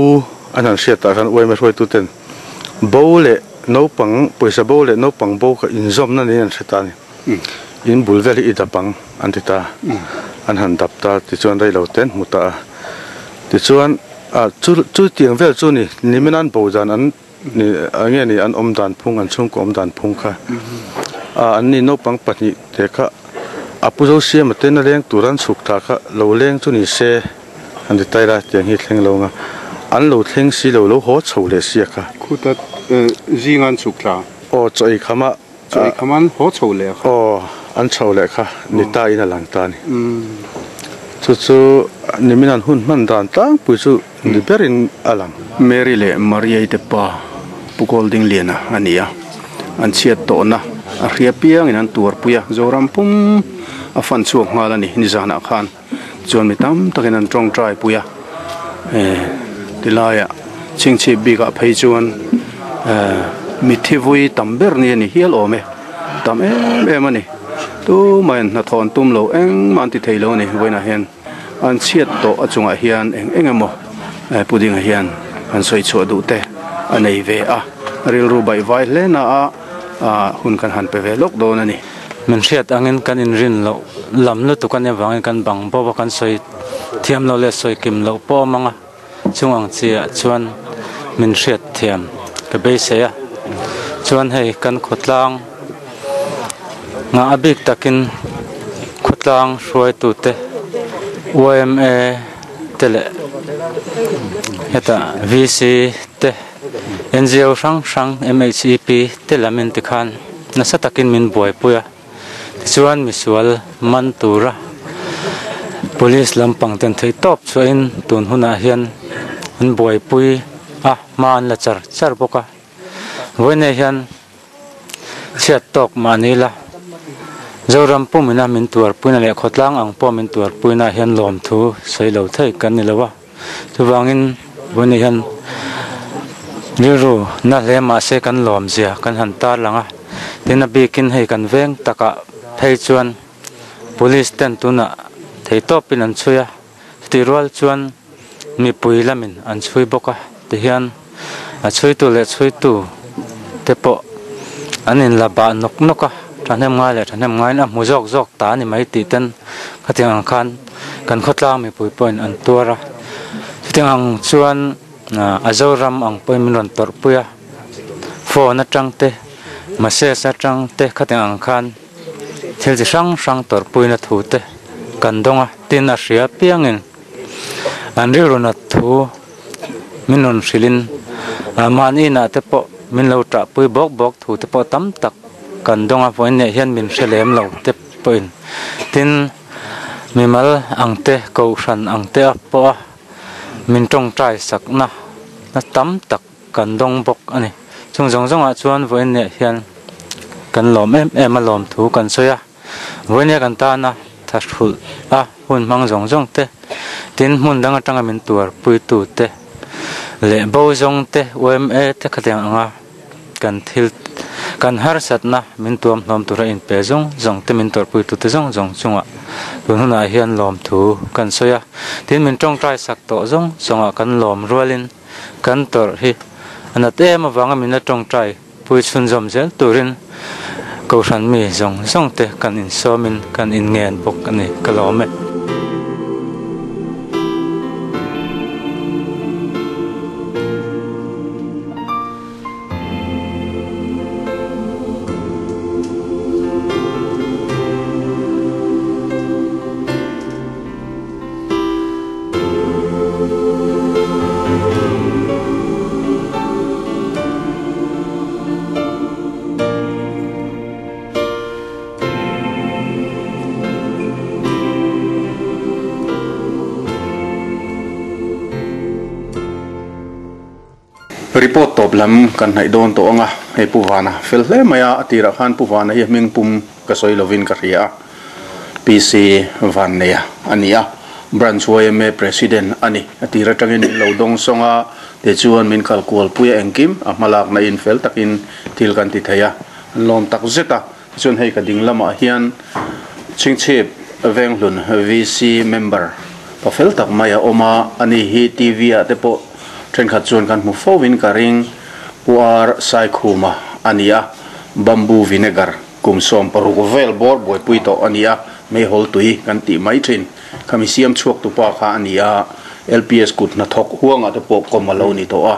an han hriat tah khan YMA hruaitu ten bo leh naupang pawisa bo leh naupang bo kha inzawmna niin an hre ta a ni. In bul vel hi i dap ang an ti ta. An han dap ta tichuan rei lo te an hmu ta a. Tichuan ah chu chu tiang vel chu ni nimin an bo dan an ni eng nge ni an awm dan phung an chhungkaw awm dan phung kha ah an ni naupang pahnih te kha a pu Zosiama ten a leng tur an chhuk thla kha lo leng chu ni se an ti taila tiang hi thleng lo ang a an lo thleng si lo lo haw chho leh sia kha. Khuta zinga an chhuk thla. Aw chaw ei kham a. Chaw ei kham an haw chho leh kha. Aw, an chho leh kha ni ta in a lang ta a ni. Chu chu nimin an hun hman dan tlangpui chu ni berin a lang. Mary leh Mariai te pa Pu Goldingliana a ni a, an chhiat tawhna a hria piangin an tuarpui a, Zoram pum a fan chhuak nghal a ni nizanah khan. Chuan mi tam takin an tawngtai pui a, tilaiah chhingchhip bikah phei chuan mitthi vui tam ber ni a ni hial awm e, tam em em a ni. Tumah in hnathawh an tum lo engmah an ti thei lo a ni vawiinah hian an chhiat tawh a chungah hian eng eng emaw pudding ah hian an sawi chhuah duh te a nei ve a, rilru baihvai hle na a hun kan han pe ve lawk dawn a ni. Min hriat angin kan inrin loh lam lutuk a nih avangin kan bang bawk a, kan sawi thiam loh leh sawi kim loh pawh a awm ang a, chung ang chiah chuan min hriat thiam ka beisei a. Chuan hei kan khawtlang nghah a bik takin khawtlang hruaitute yma te leh hetah VC te NGO hrang hrang MHEP te lam in tikhan nasa takin min buaipui a, tichuan misual man tura police lampang ten theih tawp chhuahin tun hunah hian an buaipui a, hma an la char char bawk a, vawiinah hian chhiat tawk mahni la Zoram pumina min tuarpuina leh khawtlang ang pawh min tuarpuina hian lawmthu sawi lo thei kan ni lo a. Chuvangin vawiinah hian rilru na hle mahse kan lawm zia kan han tar lang a, tin a bikin hei kan veng takah phei chuan police ten tunah theitawpin an chhui a, chutih rual chuan mipui lamin an chhui bawk a tihian a chhuitu leh chhuitu te pawh an inla bah nawk nawk a, thahnem ngai leh thahnem ngaiin a hmu zawk zawk ta a ni mai tih ten khatiang ang khan kan khawtlang mipui pawhin an tuar a, chutiang ang chuan a Zoram ang pawhin min rawn tawrh pui a, phone atang te message atang te khatiang ang khan. Thil chi hrang hrang tawrhpuina thu te kan dawng a, tin a hria piangin an rilru nat thu min rawn hrilhin mahni inah te pawh min lo ṭahpui bawk bawk thu te pawh tam tak kan dawng a, vawiin leh hian min hre lem lo te pawhin tin mimal ang te kohhran ang te a pawh a min tawngtai sakna na tam tak kan dawng bawk a ni. Chung zawng zawngah chuan vawiin leh hian kan lawm em em a lawm thu kan sawi a, vawiin leh kan tana tha hrulh a hun hmang zawng zawng te, tin hmun dang atanga min tuarpuitu te leh bo zawng te yma te khatiang anga kan thil kan harsatna min tuam hlawm tura inpe zawng zawng te min tuarpuitu te zawng zawng chungah tun hunah hian lawm thu kan sawi a, tin min tawngtai sak tawh zawng zawngah kan lawm rualin. Kan tawrh hi a nat em avanga min la tawngtai pui chhunzawm zel turin Kohhran mi zawng zawng te kan insawmin kan inngen bawk a ni ka lawm e. Report tawp lam kan hnaih dawn tawh ang a, hei Pu Vana fel hle mai a, a tirah khan Pu Vana hi a hming pum ka sawi lovin ka hria a. PC Vanneia a ni a, Branch yma President a ni. A tir atangin min lo dawng sawng a, tichuan min kal kual pui a engkim a hmalakna in fel takin thil kan ti thei a, an lawm tak zet a. Tichuan hei ka ding lamah hian Chhingchhip Venghlun VC member pa fel tak mai a awm a, ani hi TV ah te pawh thenkhat chuan kan hmu fo in ka ring, Pu R Saikhuma a ni a, Bamboo Vinegar. Kum 16 vel bawr buaipui tawh a ni a, meihawl tui kan tih mai thin. Khami siam chhuak tupa kha a ni a, LPS kut hnathawk huangah te pawh kawm a lo ni tawh a.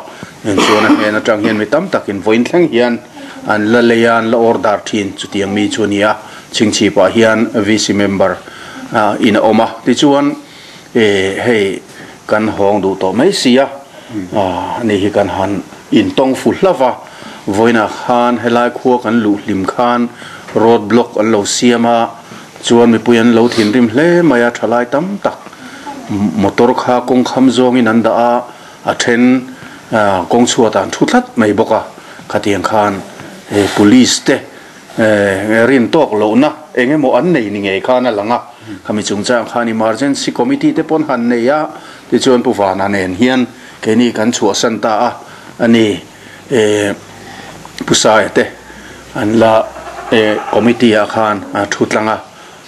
Eng chuan a hnen atang hian mi tam takin vawiin thleng hian an la lei a, an la order thin chutiang mi chu a ni a. Chhingchhipah hian VC member in a awm a, tichuan hei kan hawng duh tawh mai si a, ani hi kan han intawng fu hlauh va, vawiinah khan helai khua kan luh hlim khan road block an lo siam a, chuan mipui an lo thinrim hle mai a, thalai tam tak motor kha kawng kham zawngin an dah a, a then kawng chhuatah an thu tlat mai bawk a, khatiang khan police te Rin tawk lohna eng emaw an nei ni ngei khan a lang a, khami chungchang khan emergency committee te pawn han nei a, tichuan Pu Vana nen hian keini kan chhuahsan ta a, ani Pu Saia te an la committee ah khan a thu tlang a,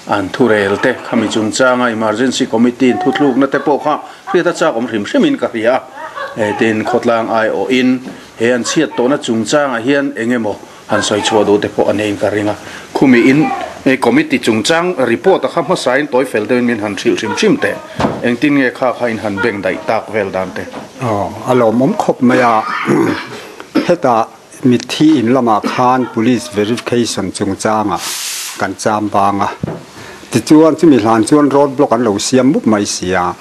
an thurel te khami chungchanga emergency committee in thuthlukna te pawh kha hriat a chak awm hrim hrimin ka hria a, tin khawtlang aiawhin he an chhiat tawhna chungchangah hian eng emaw Han sawi chhuah duh te pawh a nei ka ring a, khumi in committee chungchang report a kha hmasa in tawi fel deuhin min han hrilh hrim hrim teh. Engtin nge kha kha in han beng daih tak vel dan te? Aw, a lawmawm khawp mai a, hetah mitthi in lamah khan police verification chungchangah kan cham bang a, tichuan chumi hlan chuan road block an lo siam mup mai si a,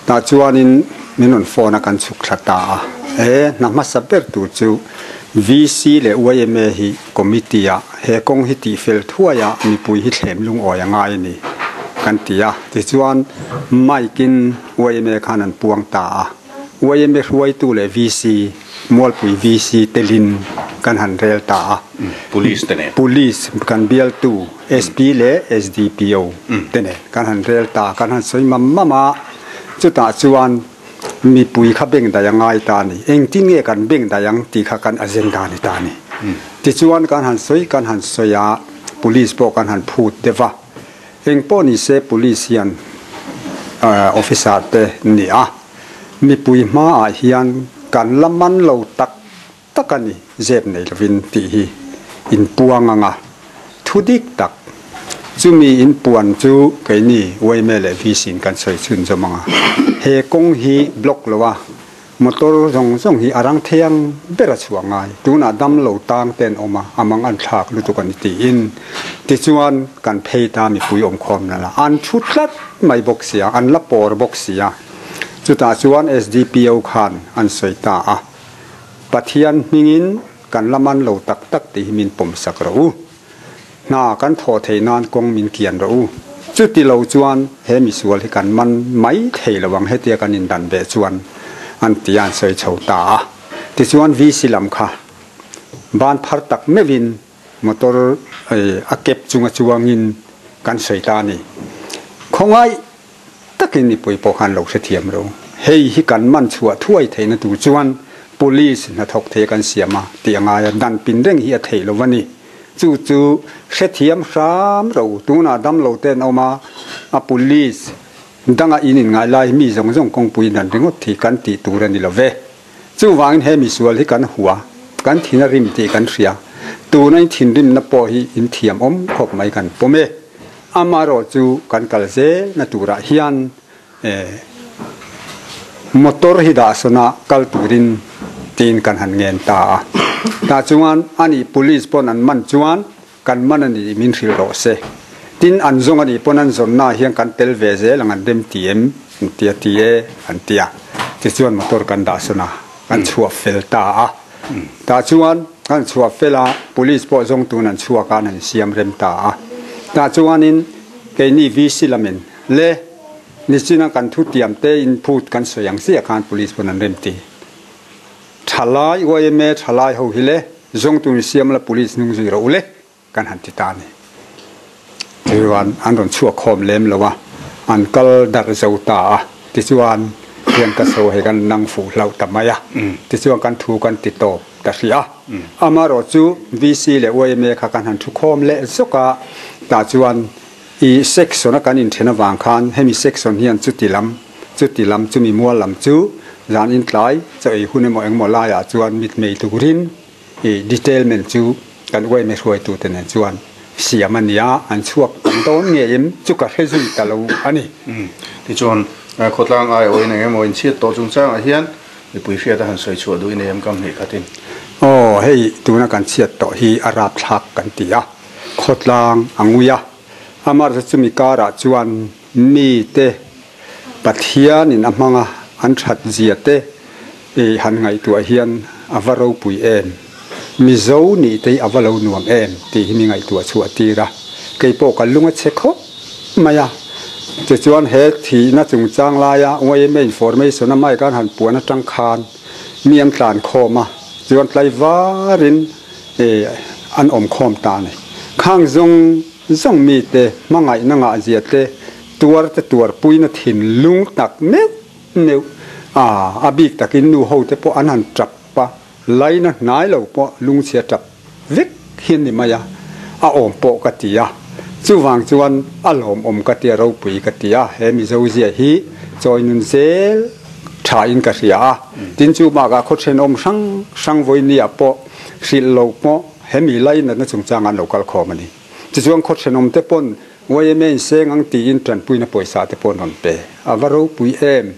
tah chuanin min rawn phone a kan chhuk thla ta a, he hna hmasa ber tur chu VC leh yma hi committee ah he kawng hi tih fel thuai a mipui hi thlem lungawi a ngai a ni kan ti a, tichuan mic in yma khan an puang ta a, yma hruaitu leh VC, Mualpui VC telin kan han rel ta a, Police te nen. Police kan bialtu SP leh SDPO te nen kan han rel ta, kan han sawi mam mam a, chutah chuan Mipui kha beng daih a ngai ta a ni. Engtin nge kan beng daih ang tih kha kan agenda a ni ta a ni. Tichuan kan han sawi kan han sawi a, Police pawh kan han phut deuh a. Eng pawh ni se Police hian officer te ni a, mipui hmaah hian kan la man lo tak tak a ni, zep nei lovin tih hi inpuang ang a, thu dik tak. Chumi inpuan chu keini yma leh VC in kan sawi chhun zawm ang a, he kawng hi block lo a, motor zawng zawng hi a rang thei ang ber a chhuah ngai. Tunah dam lo tang te an awm a, a mang an thlak lutuk a ni tiin. Tichuan kan phei ta mipui awmkhawm na la an thu tlat mai bawk sia, an la pawr bawk sia. Chutah chuan SDPO khan an sawi ta a, Pathian hmingin kan la man lo tak tak tih hi min pawm sak rawh u. Hna kan thawh theih nan kawng min kian rawh u. Chuti lo chuan he misual hi kan man mai thei lo ang hetia kan indan ve chuan an ti a an sawi chho ta a. Tichuan VC lam kha ban phar tak meuhin motor a kep chunga chuangin kan sawi ta a ni. Khawngaih takin mipui pawh khan lo hrethiam ro. Hei hi kan man chhuah thuai theihna tur chuan police hnathawk thei kan siam a tih a ngai a, dan pin reng hi a theih lo a ni. Chu chu hrethiam hram ro. Tunah damlo te an awm a, a police danga in inngai lai hi mi zawng zawng kawngpui dan ringawt hi kan tih tur a ni lo ve. Chuvangin he misual hi kan hua, kan thin a rim tih kan hria. Tuna in thinrimna pawh hi in thiam awm khawp mai kan pawm e. Amaherawh chu kan kal zel na turah hian motor hi dah sawn a kal turin tiin kan han ngen ta a. Tah chuan ani police pawn an man chuan Kan man a nih min hrilh rawh se. Tin, an zawng a nih pawn an zawnnaah hian kan tel ve zel ang an rem ti em? An ti a, ti e, an ti a. Tichuan motor kan dah sawn a, kan chhuah fel ta a. Tah chuan kan chhuah fel a, police pawh zawng tun an chhuak a, an han siam rem ta a. Tah chuanin keini VC lamin le nichina kan thutiam te in phut kan sawi ang chiah khan police pawn an rem ti. Thalai yma thalai ho hi le zawngtu in siam la police hnung zui rawh u le kan han ti ta a ni. Tichuan an rawn chhuak khawm lem lo a, an kal darh zo ta a, tichuan hian ka sawi hei kan nang fuh hlauh ta mai a, tichuan kan thu kan ti tawp ta hrih a. Amaherawh chu VC leh yma kha kan han thu khawm leh zawk a, tah chuan i section a kan inthen avang khan hemi section hian chuti lam Chuti lam chumi mual lam chu zan intlai chaw ei hun emaw engmaw laiah chuan mitmei turin i detailment chu kan uaime hruaitute nen chuan siam a nia, an chhuak tam dawn ngeiin chu ka hre zui ta lo a ni. Tichuan, khawtlang aiawhin eng emaw inchhiat tawh chungchangah hian mipui hriat a han sawi chhuah duh i nei em kam hnih khatin? Aw, hei tuna kan chhiat tawh hi a rapthlak kan ti a, khawtlang a ngui a, amaherawhchu chumi karah chuan mite Pathianin a hmanga an that zia te i han ngaihtuah hian a va ropui em? Mizo nih te hi a va lo nuam em tih hi mi ngaihtuah chhuah tir a, kei pawh ka lung a chhe khawp mai a. Tichuan he thihna chungchang laia yma information a mic an han puan atang khan mi an tlan khawm a, chuan tlaivarin an awm khawm ta a ni. Khang zawng zawng mite hmangaihna ngahzia te Tuar te tuarpuina thinlung tak meuh meuh a, a bik takin nu ho te pawh an han tap a, laina hnai lo pawh lungchhia tap vek hian ni mai a, a awm pawh ka ti a, chuvang chuan a lawmawm ka ti a, ropui ka ti a, he Mizo zia hi chawi nun zel tha in ka hria a, tin chu bakah khaw thenawm hrang hrang vawinia pawh hrilh lo pawh hemi lainatna chungchang an lo kal khawm a ni. Tichuan khaw thenawm te pawn YMA in seng ang tiin tanpuina pawisa te pawh an rawn pe. A va ropui em?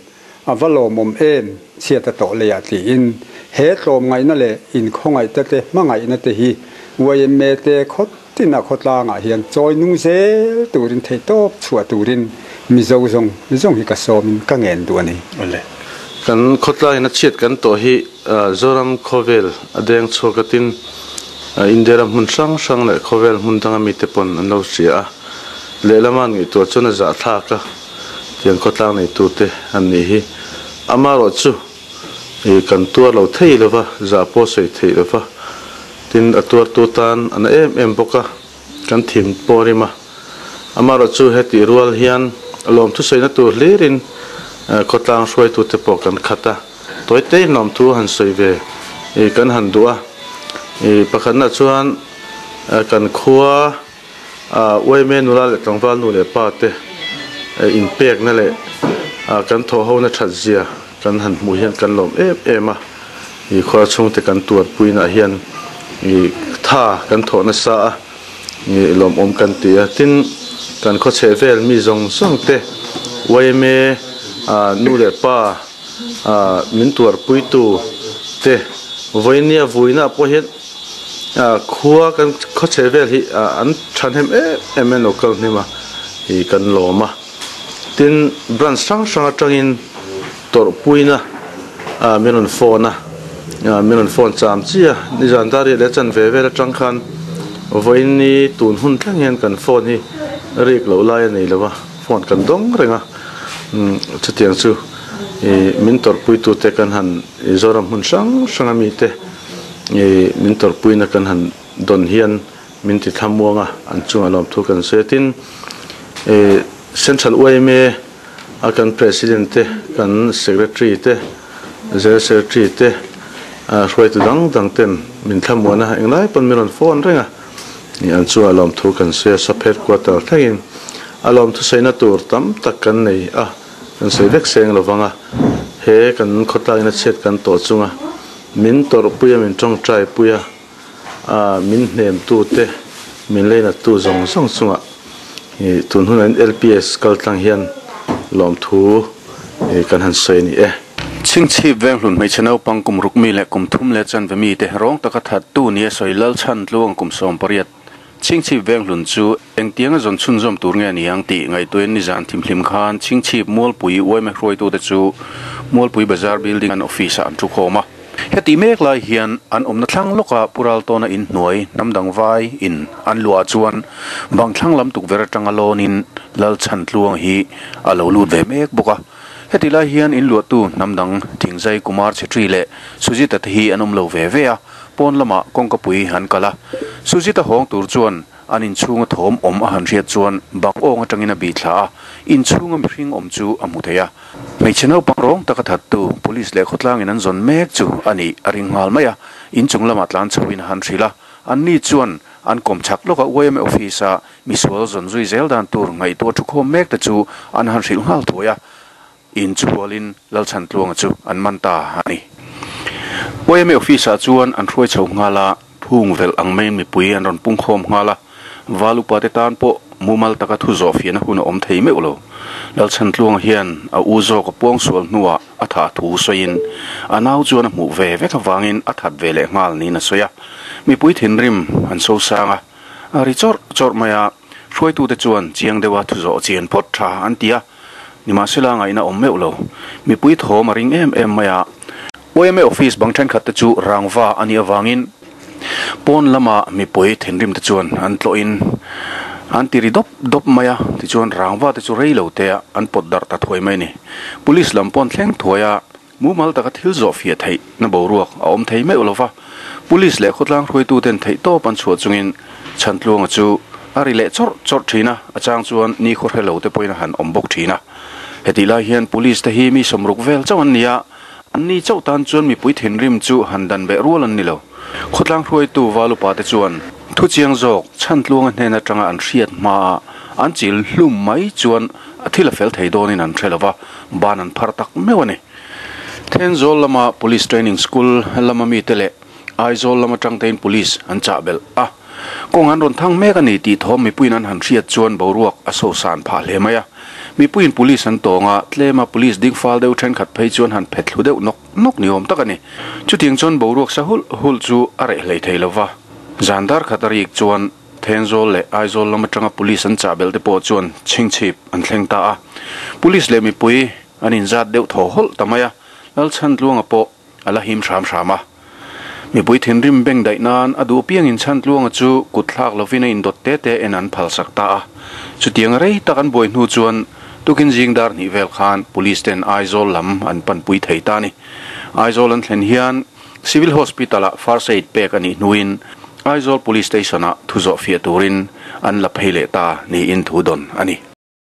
A va lawmawm em? Chhiat a tawh leiah tiin he tlawmngaihna leh inkhawngaihte te hmangaihna te hi YMA te khaw tina khawtlangah hian chawi nung zel turin theihtawp chhuah turin Mizo zawng zawng hi ka sawmin ka ngen duh a ni. Awle. Kan khawtlangin a chhiat kan tawh hi Zoram khawvel a deng chhuak atin India ram hmun hrang hrang leh khawvel hmun danga mite pawn an lo hria a, lehlama an ngaihtuah chuan a zahthlak a, tiang khawtlang neitute an nih hi. Amaherawh chu ih kan tuar lo thei lo va, zah pawh sawi theih lo va, tin a tuartu tan a na em em bawk a, kan thin pawh a rim a. Amaherawh chu hetih rual hian lawmthu sawina tur hlirin khawtlang hruaitute pawh kan khat a. Tawite lawmthu han sawi ve i kan han duh a, i pakhatna chuan kan khua yma nula leh tlangval nu leh pa te inpekna leh kan thawhhona that zia kan han hmuh hian kan lawm em em a, i khua chhungte kan tuarpuina hian i tha kan thawh nasa a, i lawmawm kan ti a, tin kan khawchheh vel mi zawng zawng te yma nu leh pa. Min tuarpuitu te vawinia vuina pawh hian Khua kan khaw chhe vel hi an thahnem em em in lo kal hnim a ih kan lawm a. Tin, branch hrang hrang atangin tawrhpuina min rawn phone a, min rawn phone cham chi a. Nizan dar riat leh chanve vel atang khan vawiin ni tun hun thleng hian kan phone hi rik loh lai a nei lo a, phone kan dawng reng a. Chutiang chu ih min tawrhpuitute kan han Zoram hmun hrang hrang a mite. I min tawrhpuina kan han dawn hian min ti thlamuang a, an chungah lawmthu kan sawi a. Tin, i Central yma a kan President te, kan Secretary te, General Secretary te, hruaitu dang dang ten min thlamuan a, englai pawn min rawn phone reng a, i an chungah lawmthu kan sawi a. Sub Headquarter thlengin a lawmthu sawina tur tam tak kan nei a, kan sawi vek seng lovang a, he kan khawtlangin a chhiat kan tawh chunga. Min tawrhpui a, min tawngtaipui a, min hnemtute, min leinattu zawng zawng chungah tun hunah hian LPS kaltlang hian lawmthu kan han sawi a ni e. Chhingchhip Venghlun hmeichhe naupang kum ruk mi leh kum thum leh chanve mite rawng taka thattu nia sawi Lalchhan Tluang kum 18 Chhingchhip Venghlun chu engtianga zawn chhunzawm tur nge ni ang tih ngaihtuahin nizan thimhlim khan Chhingchhip Mualpui yma hruaitute chu Mualpui Bazar Building an office ah an thu khawm a. Heti mek lai hian an awmna thlang lawka Pu Raltawna in hnuai hnamdang vai in an luah chuan bang thlang lam tukverh atanga lawnin Lalchhantluang hi a lo lut ve mek bawk a. Heti lai hian in luahtu hnamdang Thingzai Kumar Chhetri leh Sujita te hi an awm lo ve ve a. Pawn lamah kawngkapui an kal a, Sujita hawng tur chuan an inchhunga thawm awm a han hriat chuan bang awng atangin a bih thla a, inchhunga mihring awm chu a hmu thei a. Hmeichhe naupang rawng taka thattu Police leh khawtlangin an zawn mek chu a nih a ring nghal mai a, inchung lamah tlan chhoin a han hrilh a, anni chuan an kawm chak lawka yma office-a misual zawn zui zel dan tur ngaihtuah thukhawm mek te chu an han hrilh nghal thuai a. In chu hualin Lalchhantluanga chu an man ta a ni. YMA office-ah chuan an hruai chho nghal a, phung velh ang maiin mipui an rawn pungkhawm nghal a, val upate tan pawh mumal taka thu zawh fiahna hun a awm thei meuh lo. Lalchhantluanga hian a u zawk a puang sual hnuah a thah thu sawiin a nau chuan a hmuh ve vek avangin a that ve leh nghal niin a sawi a. Mipui thinrim an sosang a, a ri chawrh chawrh mai a. Hruaitute chuan chiang deuha thu zawh chian phawt tha an ti a, nimahsela ngaihna awm meuh lo. Mipui thawm a ring em em mai a. Yma office bang thenkhat te chu rangva a nih avangin pawn lama mipui thinrim te chuan an tlawhin an ti ri dawp dawp mai a, tichuan rangva te chu rei lo te ah an pawt darh ta thuai mai a ni. Police lam pawn thleng thuai a. Mumal taka thil zawh fiah theih na boruak a awm thei meuh lova, Police leh khawtlang hruaituten theih tawp an chhuah chungin Chhantluanga chu a ri leh chawrh chawrh thin a, a chang chuan ni khaw hre lo te pawhin a han awm bawk thin a. Hetih lai hian Police te hi mi 60 vel chauh an ni a, an ni chauh tan chuan mipui thinrim chu han dan beh rual an ni lo. Khawtlang hruaitu Valupa te chuan thu chiang zawk Chhantluanga hnen atanga an hriat hmaa an chil hlum mai chuan a thil a fel thei dawnin an hre lova, ban an phar tak meuh a ni. Thenzawl lama Police Training School lama mite leh Aizawl lam atang tein Police an chah belh a. Kawng an rawn thang mek a ni tih thawm mipuiin an han hriat chuan boruak a sosan phah hle mai a. Mipuiin Police an tawng a, tlema Police ding fal deuh thenkhat phei chuan han phet thlu deuh nawk nawk ni awm tak a ni. Chutiang chuan boruak sa hulh hulh chu a reh hlei thei lova. Zan dar khat a rik chuan Thenzawl leh Aizawl lam atanga Police an chah belh te pawh chuan chhingchhip an thleng ta a. Police leh mipui an inzat deuh thaw hawlh ta mai a, Lalchhantluanga pawh a la him hram hram a. Mipui thinrim beng daih nan a duh piangin Chhantluanga chu kut thlak lovin a indawt te te en an phalsak ta a. Chutiang rei tak an buai hnu chuan tukin zing dar hnih vel khan Police ten Aizawl lam an panpui thei ta a ni. Aizawl an thlen hian Civil Hospital-ah First Aid pek a nih hnuin Aizawl Police Station-ah thu zawh fiah turin an la phei leh ta niin thu dawn a ni.